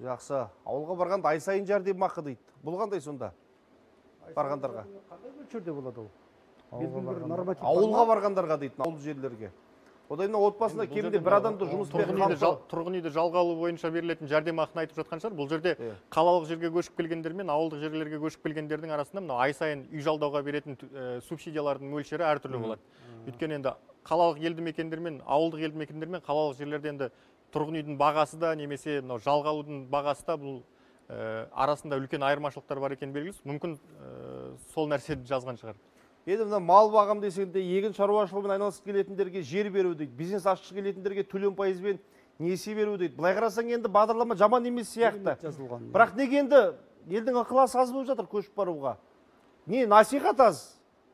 Жақсы. Ауылға барғанда ай сайын жәрдемақы дейді. Бұл қандай сонда? Барғандарға. Қандай мөлшерде болады ол? Ауылға барғандарға дейді, ауыл жерлерге. Одан отбасында кемінде бір адамды жұмыспен қамтып. Тұрғын үйді жалға алу бойынша берілетін жәрдемақыны айтып жатқан шығар. Бұл жерде қалалық жерге көшіп келгендер мен ауылдық жерлерге көшіп келгендердің арасында мынау ай сайын үй жалдауға беретін субсидиялардың мөлшері әртүрлі болады. Өйткені енді қалалық елді мекендер мен ауылдық елді мекендер мен қалалық жерлерде енді тұрғын үйдің бағасы да немесе мынау жалға алудың бағасы да бұл арасында үлкен айырмашылықтар бар екені белгілі. Мүмкін сол нәрсені жазған шығар. Енді мына мал бағам десеңде егін шаруашылығымен айналысып келетіндерге жер беру дейді. Бизнес ашқысы келетіндерге төлем пайызбен несие беру дейді. Былай қарасаң енді бағдарлама жаман емес сияқты. Бірақ неге енді елдің ықыласы аз болып жатыр көшіп баруға? Не насихат аз?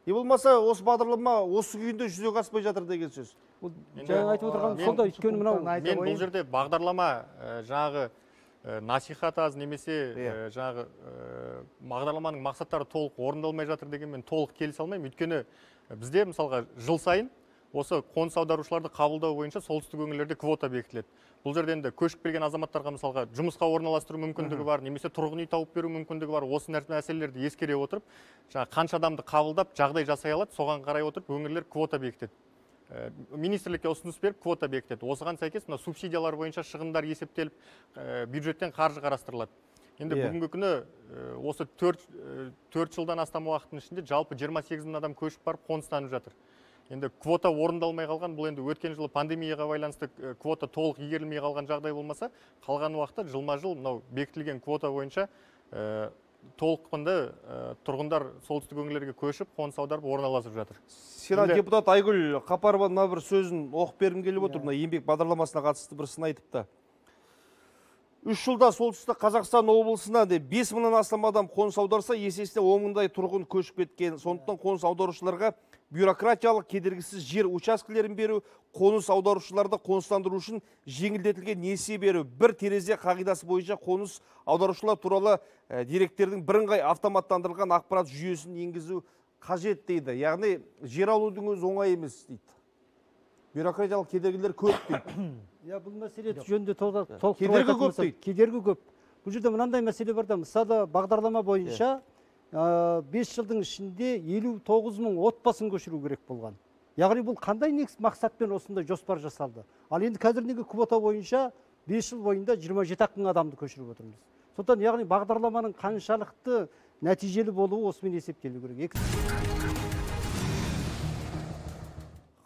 Не болмаса осы бағдарлама осы күйінде жүзеге аспай жатыр деген сөз. Жаңа айтып отырған сонда өйткені мынау. Мен бұл жерде бағдарлама жаңағы насихат аз немесе жаңағы бағдарламаның мақсаттары толық орындалмай жатыр деген мен толық келісе алмаймын. Өйткені бізде мысалға жыл сайын осы қоныс аударушыларды қабылдау бойынша солтүстік өңірлерде квота бекітіледі. Бұл жерде енді көшіп келген азаматтарға мысалға жұмысқа орналастыру мүмкіндігі бар, немесе тұрғын үй тауып беру мүмкіндігі бар. Осы мәселелерді ескере отырып, жаңа қанша адамды қабылдап, жағдай жасай алады, соған қарай отырып өңірлер квота бекітеді. Министрлікке ұсыныс беріп квота бекітеді. Осыған сәйкес мына субсидиялар бойынша шығындар есептеліп, бюджеттен қаржы қарастырылады. Енді бүгінгі күні осы 4 жылдан астам уақыттың ішінде жалпы 28 мың адам көшіп барып қоныстанып жатыр. Енді квота орындалмай қалған, бұл енді өткен жылы пандемияға байланысты квота толық игерілмей қалған жағдай болмаса, қалған уақытта жылма-жыл мынау бекітілген квота бойынша толыққанды тұрғындар солтүстік өңірлерге көшіп, қоныс аударып орналасып жатыр. Сенат депутат Айгүл Қапарова мына бір сөзін оқып бергім келіп отыр. Мына еңбек бағдарламасына қатысты бір сын айтыпты. 3 жылда солтүстік Қазақстан облысына 5 мыңнан астам адам қоныс аударса, есесіне 10 мыңдай тұрғын көшіп кеткен. Сондықтан қоныс аударушыларға бюрократиялық кедергісіз жер учаскелерін беру, қоныс аударушыларды қоныстандыру үшін жеңілдетілген несие беру, бір терезе қағидасы бойынша қоныс аударушылар туралы деректердің бірыңғай автоматтандырылған ақпарат жүйесін енгізу қажет дейді. Яғни жер алудың өзі оңай емес дейді. Бюрократиялық кедергілер көп дейді. Бұл мәселе жөнінде толық кедергі көп дейді. Кедергі көп. Бұл жерде мынандай мәселе бар да, мысалы бағдарлама бойынша 5 жылдың ішінде 59 мың отбасын көшіру керек болған. Яғни бұл қандай мақсатпен осындай жоспар жасалды? Ал енді қазір неге квота бойынша 5 жыл бойында 27 мың адамды көшіріп отырмыз. Сондықтан яғни бағдарламаның қаншалықты нәтижелі болуы осымен есептелу керек.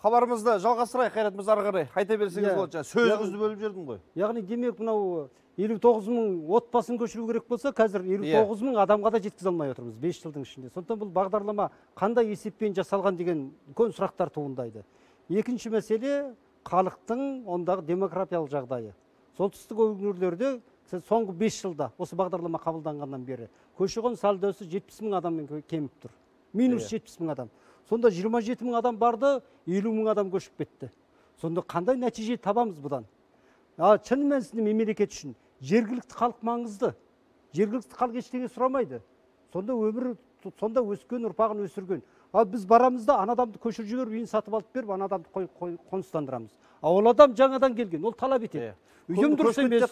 Хабарымызды жалғастырайық, Қайрат мырза, ары қарай айта берсеңіз болады. Сөзіңізді бөліп жердің ғой. Яғни демек мынау 59 мың отбасын көшіру керек болса, қазір 59 мың адамға да жеткізе алмай отырмыз 5 жылдың ішінде. Сондықтан бұл бағдарлама қандай есеппен жасалған деген үлкен сұрақтар туындайды. Екінші мәселе халықтың ондағы демографиялық жағдайы. Солтүстік өңірлерде соңғы 5 жылда осы бағдарлама қабылданғаннан бері көші-қон сальдосы 70 мың адаммен кеміп тұр. Минус 70 мың адам. Сонда 27 мың адам барды, 50 мың адам көшіп кетті. Сонда қандай нәтиже табамыз бұдан? Шын мәнісінде мемлекет үшін жергілікті халық маңызды. Жергілікті халық ештеңе сұрамайды. Сонда өскен ұрпағын өсірген. Ал біз барамыз да ана адамды көшіріп жіберіп, үйін сатып алып беріп, ана адамды қоныстандырамыз. Ол адам жаңадан келген, ол талап етеді. Үйім дұрыс емес,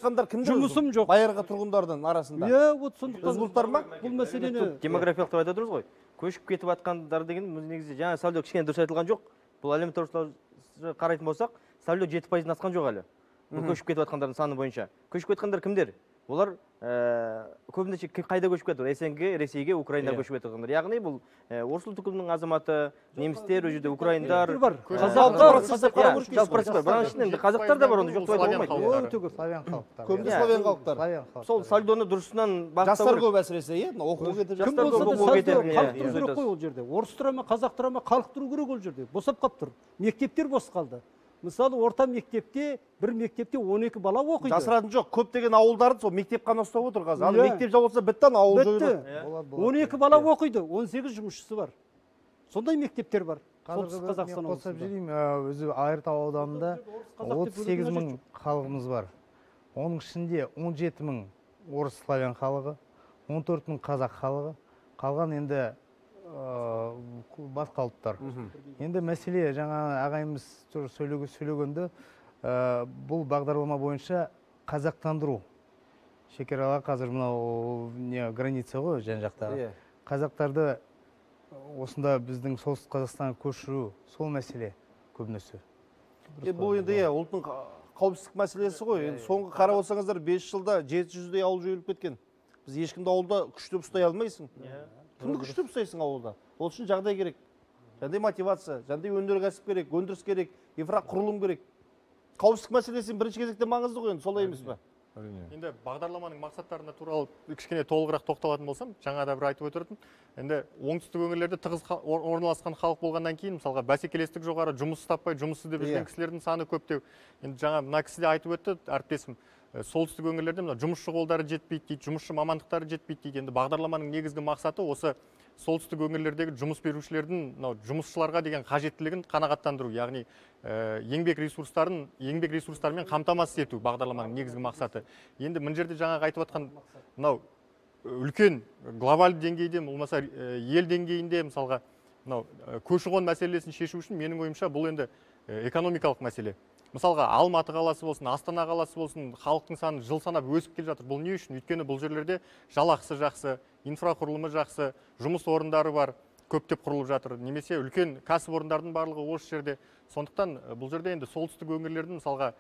жұмысым жоқ. Байырғы тұрғындардың арасында. Бұл мәселені демографиялық деп айтып отырмыз ғой. Көшіп кетіп жатқандар деген негізі жаңа Сәуле кішкене дұрыс айтылған жоқ. Бұл әлеуметтік тұрғыдан қарайтын болсақ, Сәуле 7%-ден асқан жоқ әлі. Бұл көшіп кетіп жатқандардың саны бойынша. Көшіп кеткендер кімдер? олар көбінесе қайда көшіп кетті? СНГ, Ресейге, Украинаға көшіп кетті. Яғни бұл орыс ұлт өкілінің азаматы, немістер, ол жерде украиндар, қазақтар да бар, оны жоқтап айтуға болмайды. Славян халықтар. Көбіне славян халықтар. Сол сальдоны дұрысынан жастар көп әсіресе, оқуға кетіп кім болса да халық тұру керек қой ол жерде. Орыс тұра ма, қазақ тұра ма, халық тұру керек ол жерде. Босап қалып тұр. Мектептер бос қалды. Мысалы, орта мектепте, бір мектепте 12 бала оқиды. Жасыратын жоқ, көптеген ауылдарды сол мектеп қана ұстап отыр қазір. Ал мектеп жабылса бітті, ауыл жойылады. 12 бала оқиды, 18 жұмысшысы бар. Сондай мектептер бар. Қазір мен қосып жүрейін, өзі Айыртау ауданында 38 мың халығымыз бар. Оның ішінде 17 мың орыс славян халығы, 14 мың қазақ халығы, қалған енді басқа ұлттар. Енді мәселе жаңа ағайымыз сөйлегенде бұл бағдарлама бойынша қазақтандыру. Шекаралар қазір мынау граница ғой жан жақтағы. Қазақтарды осында біздің солтүстік Қазақстанға көшіру, сол мәселе көбінесе. Бұл енді ұлттың қауіпсіздік мәселесі ғой. Соңғы қарап отырсаңыздар 5 жылда 700-дей ауыл жойылып кеткен. Біз ешкімді ауылда күштеп ұстай алмайсың. Кімді күштеп ұстайсың ауылда? Ол үшін жағдай керек. Жандай мотивация, жандай өнеркәсіп керек, өндіріс керек, инфрақұрылым керек. Қауіпсіздік мәселесі бірінші кезекте маңызды ғой, солай емес пе? Енді бағдарламаның мақсаттарына туралы кішкене толығырақ тоқталатын болсам, жаңа да бір айтып өтірдім. Енді оңтүстік өңірлерде тығыз орналасқан халық болғаннан кейін, мысалға бәсекелестік жоғары, жұмыс таппай, жұмыссыз деп жүрген кісілердің саны көптеу. Енді жаңа мына кісі де айтып өтті, әріптесім. Солтүстік өңірлерде жұмысшы қолдары жетпейді дейді, жұмысшы мамандықтары жетпейді дейді. Енді бағдарламаның негізгі мақсаты осы солтүстік өңірлердегі жұмыс берушілердің жұмысшыларға деген қажеттілігін қанағаттандыру, яғни еңбек ресурстарымен қамтамасыз ету бағдарламаның негізгі мақсаты. Енді мына жерде жаңағы айтып жатқан мынау үлкен глобалды деңгейде, болмаса ел деңгейінде мысалға мынау көші-қон мәселесін шешу үшін менің ойымша бұл енді экономикалық мәселе. Мысалға Алматы қаласы болсын, Астана қаласы болсын, халықтың саны жыл санап өсіп келе жатыр. Бұл не үшін? Өйткені бұл жерлерде жалақысы жақсы, инфрақұрылымы жақсы, жұмыс орындары бар, көптеп құрылып жатыр. Немесе үлкен кәсіпорындардың барлығы осы жерде. Сондықтан бұл жерде енді солтүстік өңірлердің мысалға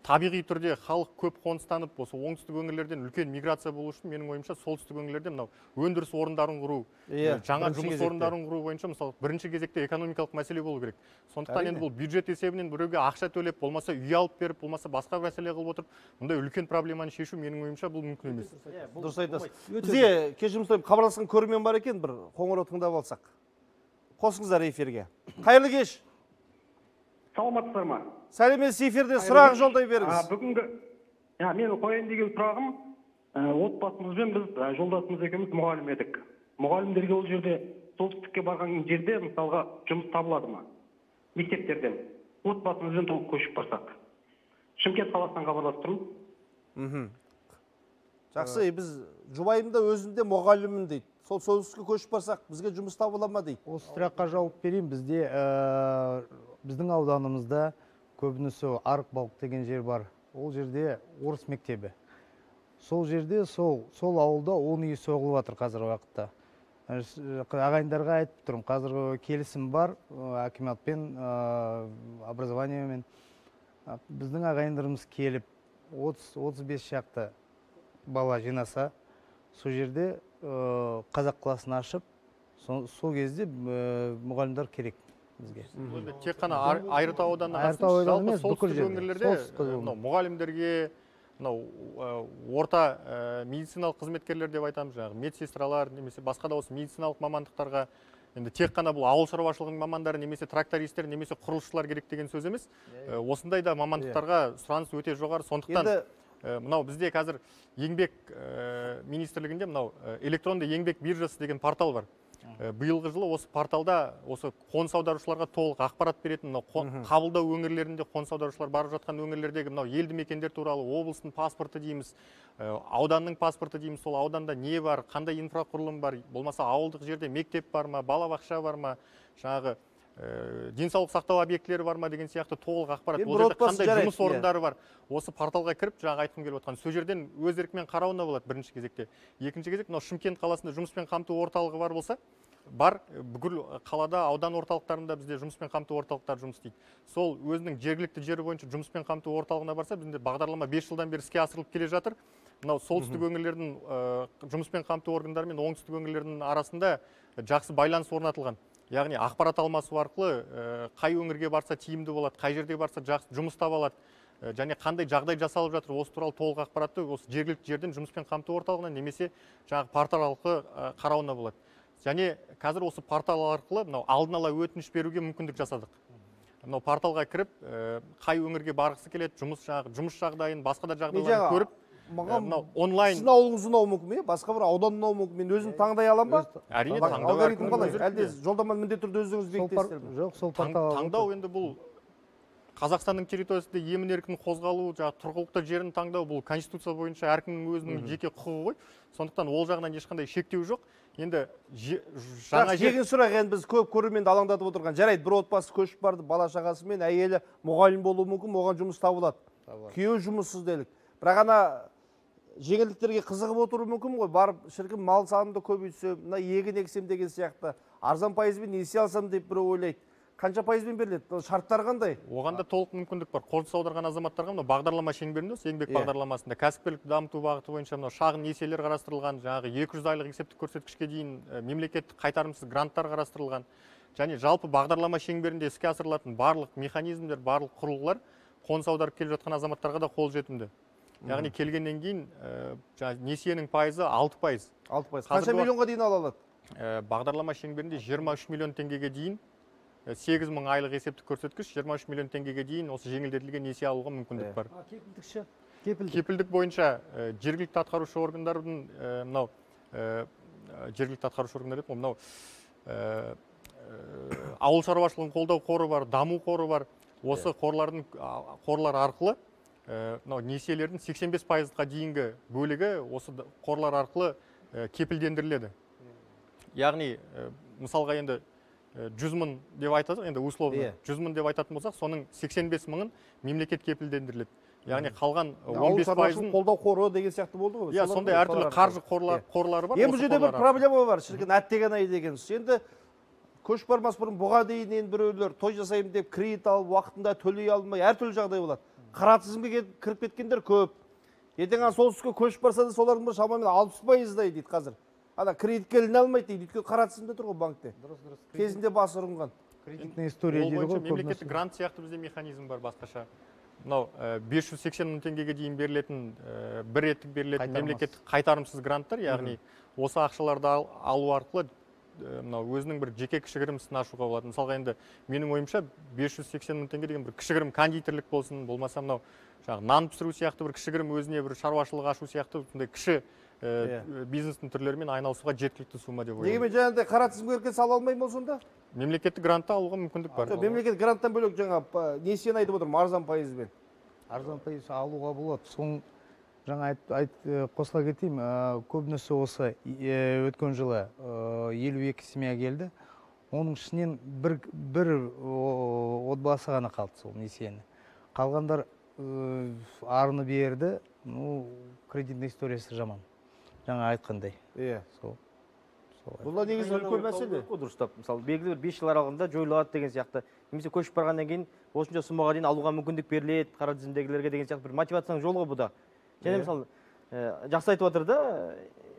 табиғи түрде халық көп қоныстанып, осы оңтүстік өңірлерден үлкен миграция болу үшін менің ойымша солтүстік өңірлерде мынау өндіріс орындарын құру, жаңа жұмыс орындарын құру бойынша мысалы бірінші кезекте экономикалық мәселе болу керек. Сондықтан енді бұл бюджет есебінен біреуге ақша төлеп, болмаса үй алып беріп, болмаса басқа мәселе қылып отырып, мұндай үлкен проблеманы шешу менің ойымша бұл мүмкін емес. Дұрыс айтасыз. Бізде кешірім сұраймын, хабарласқан көрермен бар екен, бір қоңырау тыңдап алсақ. Қосыңыздар эфирге. Қайырлы кеш. Саламатсыздар ма? Сәлеметсіз, эфирде сұрақ жолдай беріңіз. Бүгінгі менің қояйын деген сұрағым, отбасымызбен біз жолдасымыз екеуміз мұғалім едік. Мұғалімдерге ол жерде солтүстікке барған жерде мысалға жұмыс табылады ма? Мектептерден отбасымызбен толық көшіп барсақ. Шымкент қаласынан хабарласып тұрмын. Жақсы, біз жұбайымда өзінде мұғаліммін дейді. Сол солтүстікке көшіп барсақ, бізге жұмыс табыла ма дейді. Осы сұраққа жауап берейін. Біздің ауданымызда көбінесе Арықбалық деген жер бар. Ол жерде орыс мектебі. Сол жерде, сол ауылда 10 үй соғылып жатыр қазіргі уақытта. Ағайындарға айтып тұрмын, қазіргі келісім бар, акиматпен, образованиемен. Біздің ағайындарымыз келіп, 30-35 шақты бала жинаса, сол жерде қазақ класын ашып, сол кезде мұғалімдер керек. Тек қана Айыртау ауданына жалпы солтүстік өңірлерде мұғалімдерге, орта медициналық қызметкерлер деп айтамыз, жаңағы медсестралар немесе басқа да осы медициналық мамандықтарға енді тек қана бұл ауыл шаруашылығының мамандары немесе трактористтер немесе құрылысшылар керек деген сөз емес. Осындай да мамандықтарға сұраныс өте жоғары. Сондықтан мынау бізде қазір еңбек министрлігінде мынау электронды еңбек биржасы деген портал бар. Биылғы жылы осы порталда осы қоныс аударушыларға толық ақпарат беретін, қабылдау өңірлерінде қоныс аударушылар барып жатқан өңірлердегі мынау елді мекендер туралы облыстың паспорты дейміз, ауданның паспорты дейміз, сол ауданда не бар, қандай инфрақұрылым бар, болмаса ауылдық жерде мектеп бар ма, балабақша бар ма, жаңағы денсаулық сақтау объектілері бар ма деген сияқты толық ақпарат. Ол жерде қандай жұмыс орындары бар. Осы порталға кіріп, жаңа айтқым келіп отқан, сол жерден өз еркімен қарауына болады бірінші кезекте. Екінші кезек, мынау Шымкент қаласында жұмыспен қамту орталығы бар болса, бар, бүкіл қалада, аудан орталықтарында бізде жұмыспен қамту орталықтары жұмыс істейді. Сол өзінің жергілікті жері бойынша жұмыспен қамту орталығына барса, бізде бағдарлама 5 жылдан бері іске асырылып келе жатыр. Мынау солтүстік өңірлердің жұмыспен қамту органдары мен оңтүстік өңірлердің арасында жақсы байланыс орнатылған. Яғни ақпарат алмасу арқылы қай өңірге барса тиімді болады, қай жерге барса жақсы жұмыс таба алады, және қандай жағдай жасалып жатыр, осы туралы толық ақпаратты осы жергілікті жерден жұмыспен қамту орталығына немесе жаңағы портал арқылы қарауына болады. Және қазір осы портал арқылы мынау алдын ала өтініш беруге мүмкіндік жасадық. Мынау порталға кіріп, қай өңірге барғысы келеді, жұмыс жағдайын, басқа да жағдайларын көріп, онлайн. Сіздің ауылыңыз ұнауы мүмкін бе? Басқа бір аудан ұнауы мүмкін. Мен өзім таңдай алам ба? Әрине таңдау. Алгоритм қалай? Әлде жолдаманы міндетті түрде өздеріңіз бекітесіздер ме? Жоқ, сол портал. Таңдау енді бұл Қазақстанның территориясында емін-еркін қозғалу, тұрғылықты жерін таңдау, бұл конституция бойынша әркімнің өзінің жеке құқығы ғой. Сондықтан ол жағынан ешқандай шектеу жоқ. Енді жаңа жегін сұрақ, енді біз көп көрерменді алаңдатып отырған. Жарайды, бір отбасы көшіп барды, бала шағасы мен әйелі мұғалім болуы мүмкін, оған жұмыс табылады. Күйеуі жұмыссыз делік. Бірақ ана жеңілдіктерге қызығып отыру мүмкін ғой. Барып шіркін мал санымды көбейтсем, мына егін ексем деген сияқты, арзан пайызбен несие алсам деп бір ойлайды. Қанша пайызбен беріледі? Шарттар қандай? Оғанда толық мүмкіндік бар. Қоныс аударған азаматтарға мына бағдарлама шеңберінде, еңбек бағдарламасында кәсіпкерлікті дамыту бағыты бойынша мына шағын несиелер қарастырылған, жаңағы 200 айлық есептік көрсеткішке дейін мемлекеттік қайтарымсыз гранттар қарастырылған. Және жалпы бағдарлама шеңберінде іске асырылатын барлық механизмдер, барлық құрылғылар қоныс аударып келе жатқан азаматтарға да қолжетімді. Яғни келгеннен кейін несиенің пайызы 6%. 6%. Қанша миллионға дейін ала алады? Бағдарлама шеңберінде 23 миллион теңгеге дейін 8.000 айлық есептік көрсеткіш, 23 миллион теңгеге дейін осы жеңілдетілген несие алуға мүмкіндік бар. Кепілдікші? Кепілдік бойынша жергілікті атқарушы органдардың мынау жергілікті атқарушы органдар еді, мынау ауыл шаруашылығын қолдау қоры бар, даму қоры бар. Осы қорлар арқылы несиелердің 85%-ға дейінгі бөлігі осы қорлар арқылы кепілдендіріледі. Яғни мысалға енді 100 мың деп айтады, енді условно 100 мың деп айтатын болсақ, соның 85 мыңын мемлекет кепілдендіріледі. Яғни қалған 15%-ын қолдау қоры деген сияқты болды ғой. Сондай әртүрлі қаржы қорлары бар. Бұл жерде бір проблема бар, шіркін әттеген ай деген. Енді көш бармас бұрын бұға дейін біреулер той жасаймын деп кредит алып, уақытында төлей алмай, әртүрлі жағдай болады. Қара тізімге кіріп кеткендер көп. Ертең солтүстікке көшіп барса да солардың бір шамамен 60%-дай дейді қазір. Ана кредитке іліне алмайды дейді, өйткені қара тізімде тұр ғой банкте. Кезінде басы ұрынған. Кредитная история дейді ғой. Мемлекеттік грант сияқты бізде механизм бар басқаша. Мынау 580 мың теңгеге дейін берілетін, бір реттік берілетін мемлекеттік қайтарымсыз гранттар, яғни осы ақшаларды алу арқылы өзінің бір жеке кішігірім ісін ашуға болады. Мысалға енді менің ойымша 580 мың теңге деген бір кішігірім кондитерлік болсын, болмаса мынау нан пісіру сияқты бір кішігірім өзіне бір шаруашылық ашу сияқты кіші бизнестің түрлерімен айналысуға жеткілікті сума деп ойлаймын. Дегенмен жаңағыдай қара тізімге кірген сала алмаймын ол сонда? Мемлекеттік грантты алуға мүмкіндік бар. Мемлекеттік гранттан бөлек жаңа несиені айтып отырмын, арзан пайызбен. Арзан пайыз алуға болады. Соң жаңа қосыла кетейін, көбінесе осы өткен жылы 52 семья келді. Оның ішінен бір отбасы ғана қалды сол несиені. Қалғандар арыны берді, кредитный историясы жаман. Жаңа айтқандай. Бұл негізі үлкен мәселе. Дұрыстап, мысалы, белгілі бір 5 жыл аралығында жойылады деген сияқты. Немесе көшіп барғаннан кейін осынша сумаға дейін алуға мүмкіндік беріледі, қара тізімдегілерге деген сияқты бір мотивацияның жолы ғой бұ да. Және мысалы, жақсы айтып отыр да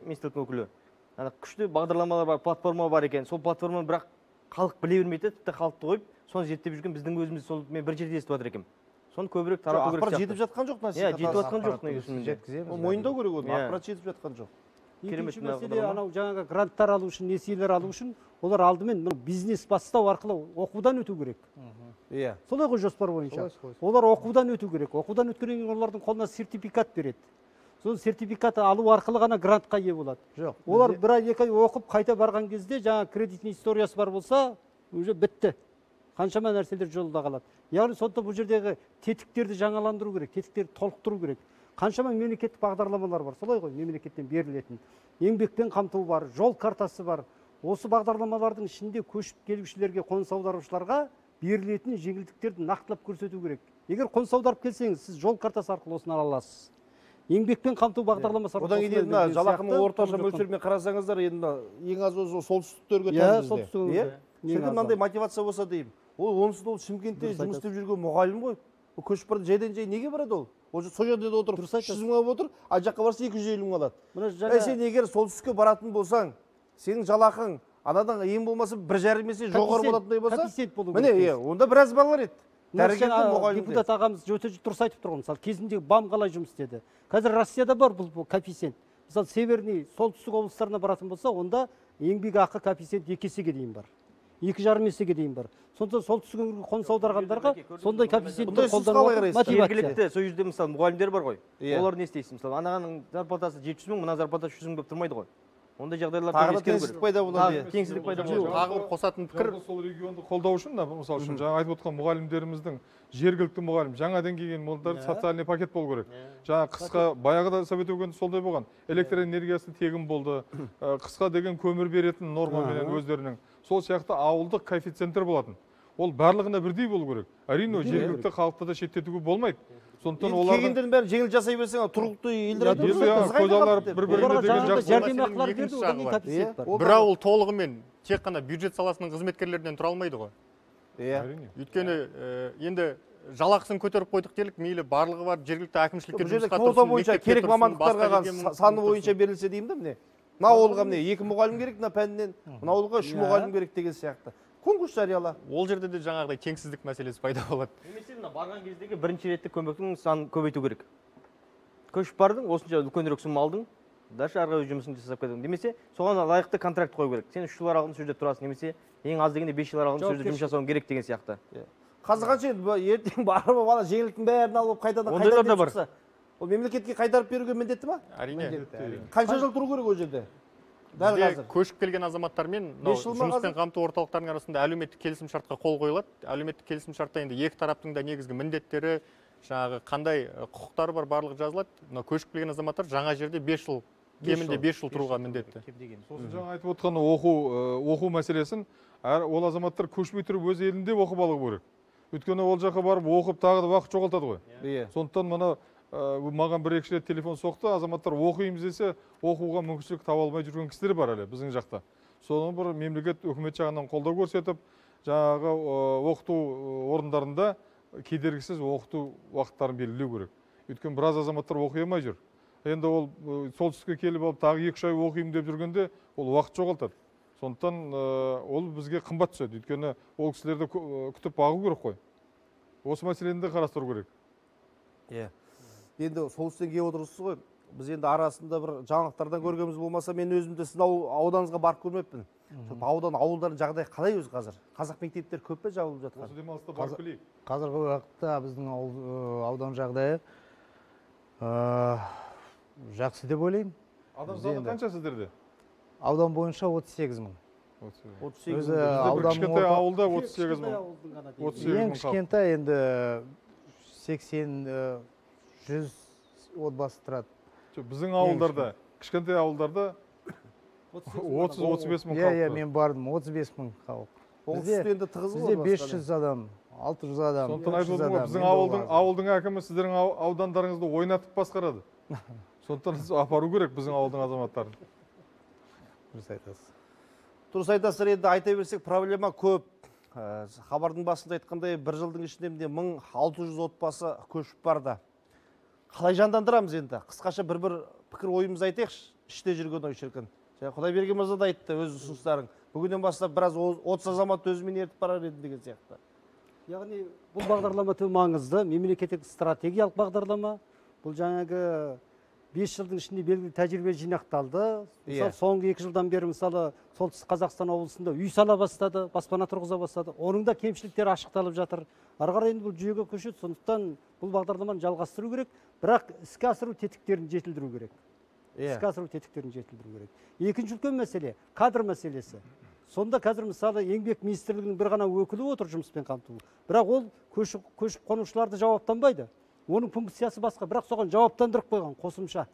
министрліктің өкілі. Күшті бағдарламалар бар, платформа бар екен. Сол платформаны бірақ халық біле бермейді, тіпті халықты қойып, соны зерттеп жүрген біздің өзіміз сол мен бір жерде естіп отыр екенмін. Соны көбірек тарату керек сияқты. Ақпарат жетіп жатқан жоқ насихат. Жетіп жатқан жоқ негізінде. Мойындау керек оны, ақпарат жетіп жатқан жоқ. Екінші мәселе, анау жаңағы гранттар алу үшін, несиелер алу үшін, олар алдымен бизнес бастау арқылы оқудан өту керек. Солай ғой жоспар бойынша. Олар оқудан өту керек. Оқудан өткеннен кейін олардың қолына сертификат береді. Сол сертификатты алу арқылы ғана грантқа ие болады. Жоқ. Олар бір ай, 2 ай оқып қайта барған кезде жаңа кредитный историясы бар болса, уже бітті. Қаншама нәрселер жолда қалады. Яғни сонда бұл жердегі тетіктерді жаңаландыру керек, тетіктерді толықтыру керек. Қаншама мемлекеттік бағдарламалар бар, солай ғой, мемлекеттен берілетін. Еңбекпен қамту бар, жол картасы бар. Осы бағдарламалардың ішінде көшіп келушілерге, қоныс аударушыларға берілетін жеңілдіктерді нақтылап көрсету керек. Егер қоныс аударып келсеңіз, сіз жол картасы арқылы осыны ала аласыз. еңбекпен қамту бағдарламасы одан кейін мына жалақының орташа мөлшерімен қарасаңыздар, енді ең аз осы солтүстіктерге тән бізде. Шіркін мынандай мотивация болса деймін. Ол онсыз ол Шымкентте жұмыс істеп жүрген мұғалім ғой. Ол көшіп барды жайдан жай неге барады ол? Ол сол жерде отырып 300 мың алып отыр, ай жаққа барса 250 мың алады. Сен егер солтүстікке баратын болсаң, сенің жалақың анадан ең болмаса 1,5 есе жоғары болатындай болса, міне, онда біраз балалар еді. Депутат ағамыз өте дұрыс айтып тұрған. Мысалы, кезінде БАМ қалай жұмыс істеді. Қазір Россияда бар бұл коэффициент. Мысалы, северный, солтүстік облыстарына баратын болса, онда еңбек ақы коэффициент 2 есеге дейін бар. 2,5 есеге дейін бар. Сонда солтүстік өңірге қоныс аударғандарға сондай коэффициентті қолдануға мотивация. Жергілікті сол жерде мысалы мұғалімдер бар ғой. Олар не істейсің? Мысалы, анағаның зарплатасы 700 мың, мына зарплатасы 100 мың болып тұрмайды ғой. Ондай жағдайларда теңсіздік пайда болады. Теңсіздік пайда болады. Тағы бір қосатын пікір, сол регионды қолдау үшін, мысалы үшін жаңа айтып отқан мұғалімдеріміздің жергілікті мұғалім, жаңадан келген молдар социальный пакет болу керек. Жаңа қысқа баяғыда совет өкіметі солай болған. Электр энергиясы тегін болды. Қысқа деген көмір беретін нормамен өздерінің. Сол сияқты ауылдық коэффициенттер болатын. Ол барлығына бірдей болу керек. Әрине, жергілікті халықты да шеттетуге болмайды. Сондықтан олардың кегендердің бәрін жеңіл жасай берсең, тұрғылықты елдер көзалар бір-біріне деген жәрдемақылар берді, одан кейін коэффициент бар. Бір ауыл толығымен тек қана бюджет саласының қызметкерлерінен тұра алмайды ғой. Өйткені енді жалақысын көтеріп қойдық делік, мейлі барлығы бар жергілікті әкімшілікке жұмысқа тұрсын, бойынша керек мамандықтарға саны бойынша берілсе деймін да міне. Мына ауылға міне 2 мұғалім керек, мына пәнінен, мына ауылға 3 мұғалім керек деген сияқты. Конкурс жарияла. Ол жерде де жаңағыдай теңсіздік мәселесі пайда болады. Немесе мына барған кездегі бірінші реттік көмектің санын көбейту керек. Көшіп бардың, осынша үлкенірек сұм алдың, дальше ары қарай жұмысын жасап кетдің. Немесе соған лайықты контракт қою керек. Сен 3 жылдар алдың сол жерде тұрасың, немесе ең аз дегенде 5 жылдар алдың сол жерде жұмыс жасауың керек деген сияқты. Қазір қанша ертең барып бала жеңілдіктің бәрін алып қайтадан шықса, ол мемлекетке қайтарып беруге міндетті ма? Әрине. Қанша жыл тұру керек ол жерде? Көшіп келген азаматтармен жұмыспен қамту орталықтарының арасында әлеуметтік келісімшартқа қол қойылады. Әлеуметтік келісімшартта енді екі тараптың да негізгі міндеттері, жаңағы қандай құқықтары бар барлығы жазылады. Көшіп келген азаматтар жаңа жерде 5 жыл, кемінде 5 жыл тұруға міндетті. Сосын жаңа айтып отқан оқу мәселесін, ол азаматтар көшпей тұрып өз елінде оқып алу керек. Өйткені ол жаққа барып оқып тағы да уақыт жоғалтады ғой. Сондықтан мына маған 1-2 рет телефон соқты, азаматтар оқимыз десе, оқуға мүмкіншілік таба алмай жүрген кісілер бар әлі біздің жақта. Соны бір мемлекет үкімет жағынан қолдау көрсетіп, жаңағы оқыту орындарында кедергісіз оқыту уақыттарын белгілеу керек. Өйткені біраз азаматтар оқи алмай жүр. Енді ол солтүстікке келіп алып тағы 2 ай оқимын деп жүргенде ол уақыт жоғалтады. Сондықтан ол бізге қымбат түседі. Өйткені ол кісілерді күтіп бағу керек қой. Осы мәселені де қарастыру керек. Енді солтүстіктен келіп отырсыз ғой. Біз енді арасында бір жаңалықтардан көргеніміз болмаса, мен өзімді сіздің ауданыңызға барып көрмеппін. Ауылдардың жағдайы қалай өзі қазір? Қазақ мектептер көп пе жабылып жатқан? Осы демалыста барып білейік. Қазіргі уақытта біздің аудан жағдайы жақсы деп ойлаймын. Адам саны қанша сіздерде? Аудан бойынша 38 мың. Өзі кішкентай ауылда 38 мың. Ең кішкентай енді 80-100 отбасы тұрады. Біздің ауылдарда, кішкентай ауылдарда 30-35 мың халық. Мен бардым, 35 мың халық. Бізде 500 адам, 600 адам. Сондықтан айтып отырмын ғой, біздің ауылдың әкімі сіздердің аудандарыңызды ойнатып басқарады. Сондықтан апару керек біздің ауылдың азаматтарын. Дұрыс айтасыздар, енді айта берсек проблема көп. Хабардың басында айтқандай, бір жылдың ішінде 1600 отбасы көшіп барды. Қалай жандандырамыз енді? Қысқаша бір пікір ойымыз айтайықшы, іште жүрген ой шіркін. Құдайберген мырза да айтты өз ұсыныстарын. Бүгіннен бастап біраз 30 азамат өзімен ертіп барар еді деген сияқты. Яғни бұл бағдарлама өте маңызды, мемлекеттік стратегиялық бағдарлама. Бұл жаңағы 5 жылдың ішінде белгілі тәжірибе жинақталды. Мысалы, соңғы 2 жылдан бері мысалы солтүстік Қазақстан облысында үй сала бастады, баспана тұрғыза бастады. Оның да кемшіліктері ашықталып жатыр. Ары қарай енді бұл жүйеге көшеді, сондықтан бұл бағдарламаны жалғастыру керек, бірақ іске асыру тетіктерін жетілдіру керек. Екінші үлкен мәселе кадр мәселесі. Сонда қазір мысалы еңбек министрлігінің бір ғана өкілі отыр жұмыспен қамту. Бірақ ол көшіп қонушыларды жауаптанбайды. Оның функциясы басқа, бірақ соған жауаптандырып қойған қосымша.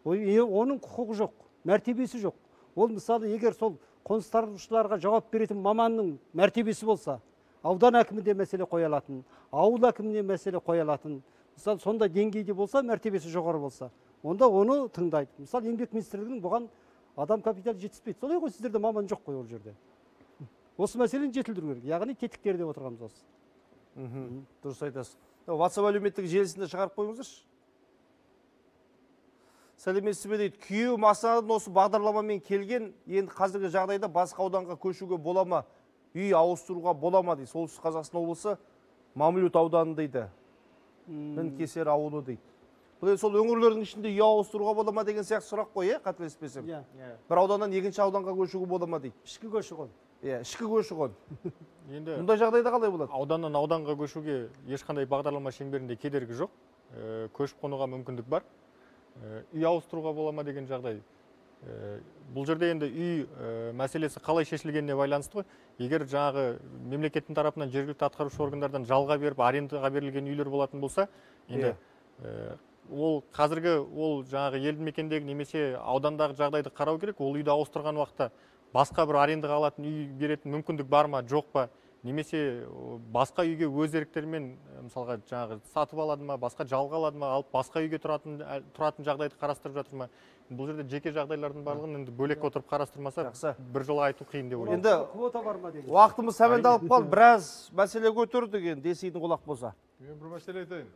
Оның құқығы жоқ, мәртебесі жоқ. Ол мысалы егер сол қоныстанушыларға жауап беретін маманның мәртебесі болса, аудан әкімінде мәселе қоя алатын, ауыл әкіміне мәселе қоя алатын, мысалы сондай деңгейде болса, мәртебесі жоғары болса, онда оны тыңдайды. Мысалы еңбек министрлігінің бұған адам капиталы жетіспейді. Солай ғой, сіздерде маман жоқ қой ол жерде. Осы мәселені жетілдіру керек. Яғни тетіктер деп отырғанымыз осы. Дұрыс айтасыз. WhatsApp әлеуметтік желісінде шығарып қойыңыздаршы. Сәлеметсіз бе дейді, күйеуім Астанадан осы бағдарламамен келген, енді қазіргі жағдайда басқа ауданға көшуге бола ма, үй ауыстыруға бола ма дейді. Солтүстік Қазақстан облысы Мамлют ауданы дейді. Мінкесер ауылы дейді. Бұл сол өңірлердің ішінде үй ауыстыруға бола ма деген сияқты сұрақ қой, қателеспесем. Бір ауданнан екінші ауданға көшуге бола ма дейді. Ішкі көші-қон. Ішкі көші-қон. Енді мұндай жағдайда қалай болады? Ауданнан ауданға көшуге ешқандай бағдарлама шеңберінде кедергі жоқ. Көшіп қонуға мүмкіндік бар. Үй ауыстыруға бола ма деген жағдай. Бұл жерде енді үй мәселесі қалай шешілгеніне байланысты ғой. Егер жаңағы мемлекеттің тарапынан жергілікті атқарушы органдардан жалға беріп, арендаға берілген үйлер болатын болса, енді ол қазіргі ол жаңағы елді мекендегі немесе аудандағы жағдайды қарау керек. Ол үйді ауыстырған уақытта басқа бір арендаға алатын үй беретін мүмкіндік бар ма, жоқ па, немесе басқа үйге өз еріктерімен мысалға жаңағы сатып алады ма, басқа жалға алады ма, алып басқа үйге тұратын жағдайды қарастырып жатыр ма. Бұл жерде жеке жағдайлардың барлығын енді бөлек отырып қарастырмаса, бір жолы айту қиын деп ойлаймын. Енді квота бар ма деген. Уақытымыз сәмендалып қалды, біраз мәселе көтердік енді, десейдің құлақ болса. Мен бір мәселе айтайын.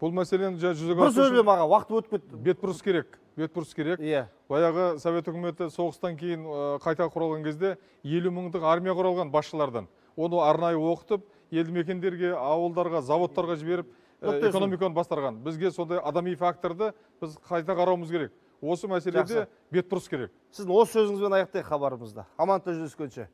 Бұл мәселені жүзеге бір сөйлем аға, уақыт өтіп кетті. Бетбұрыс керек. Бетбұрыс керек. Баяғы Совет үкіметі соғыстан кейін қайта құралған кезде 50 мыңдық армия құралған басшылардан. Оны арнайы оқытып, елді мекендерге, ауылдарға, заводтарға жіберіп, экономиканы бастарған. Бізге сондай адами факторды біз қайта қарауымыз керек. Осы мәселеде бетбұрыс керек. Сіздің осы сөзіңізбен аяқтайық хабарымызда. Аманта жүздескенше.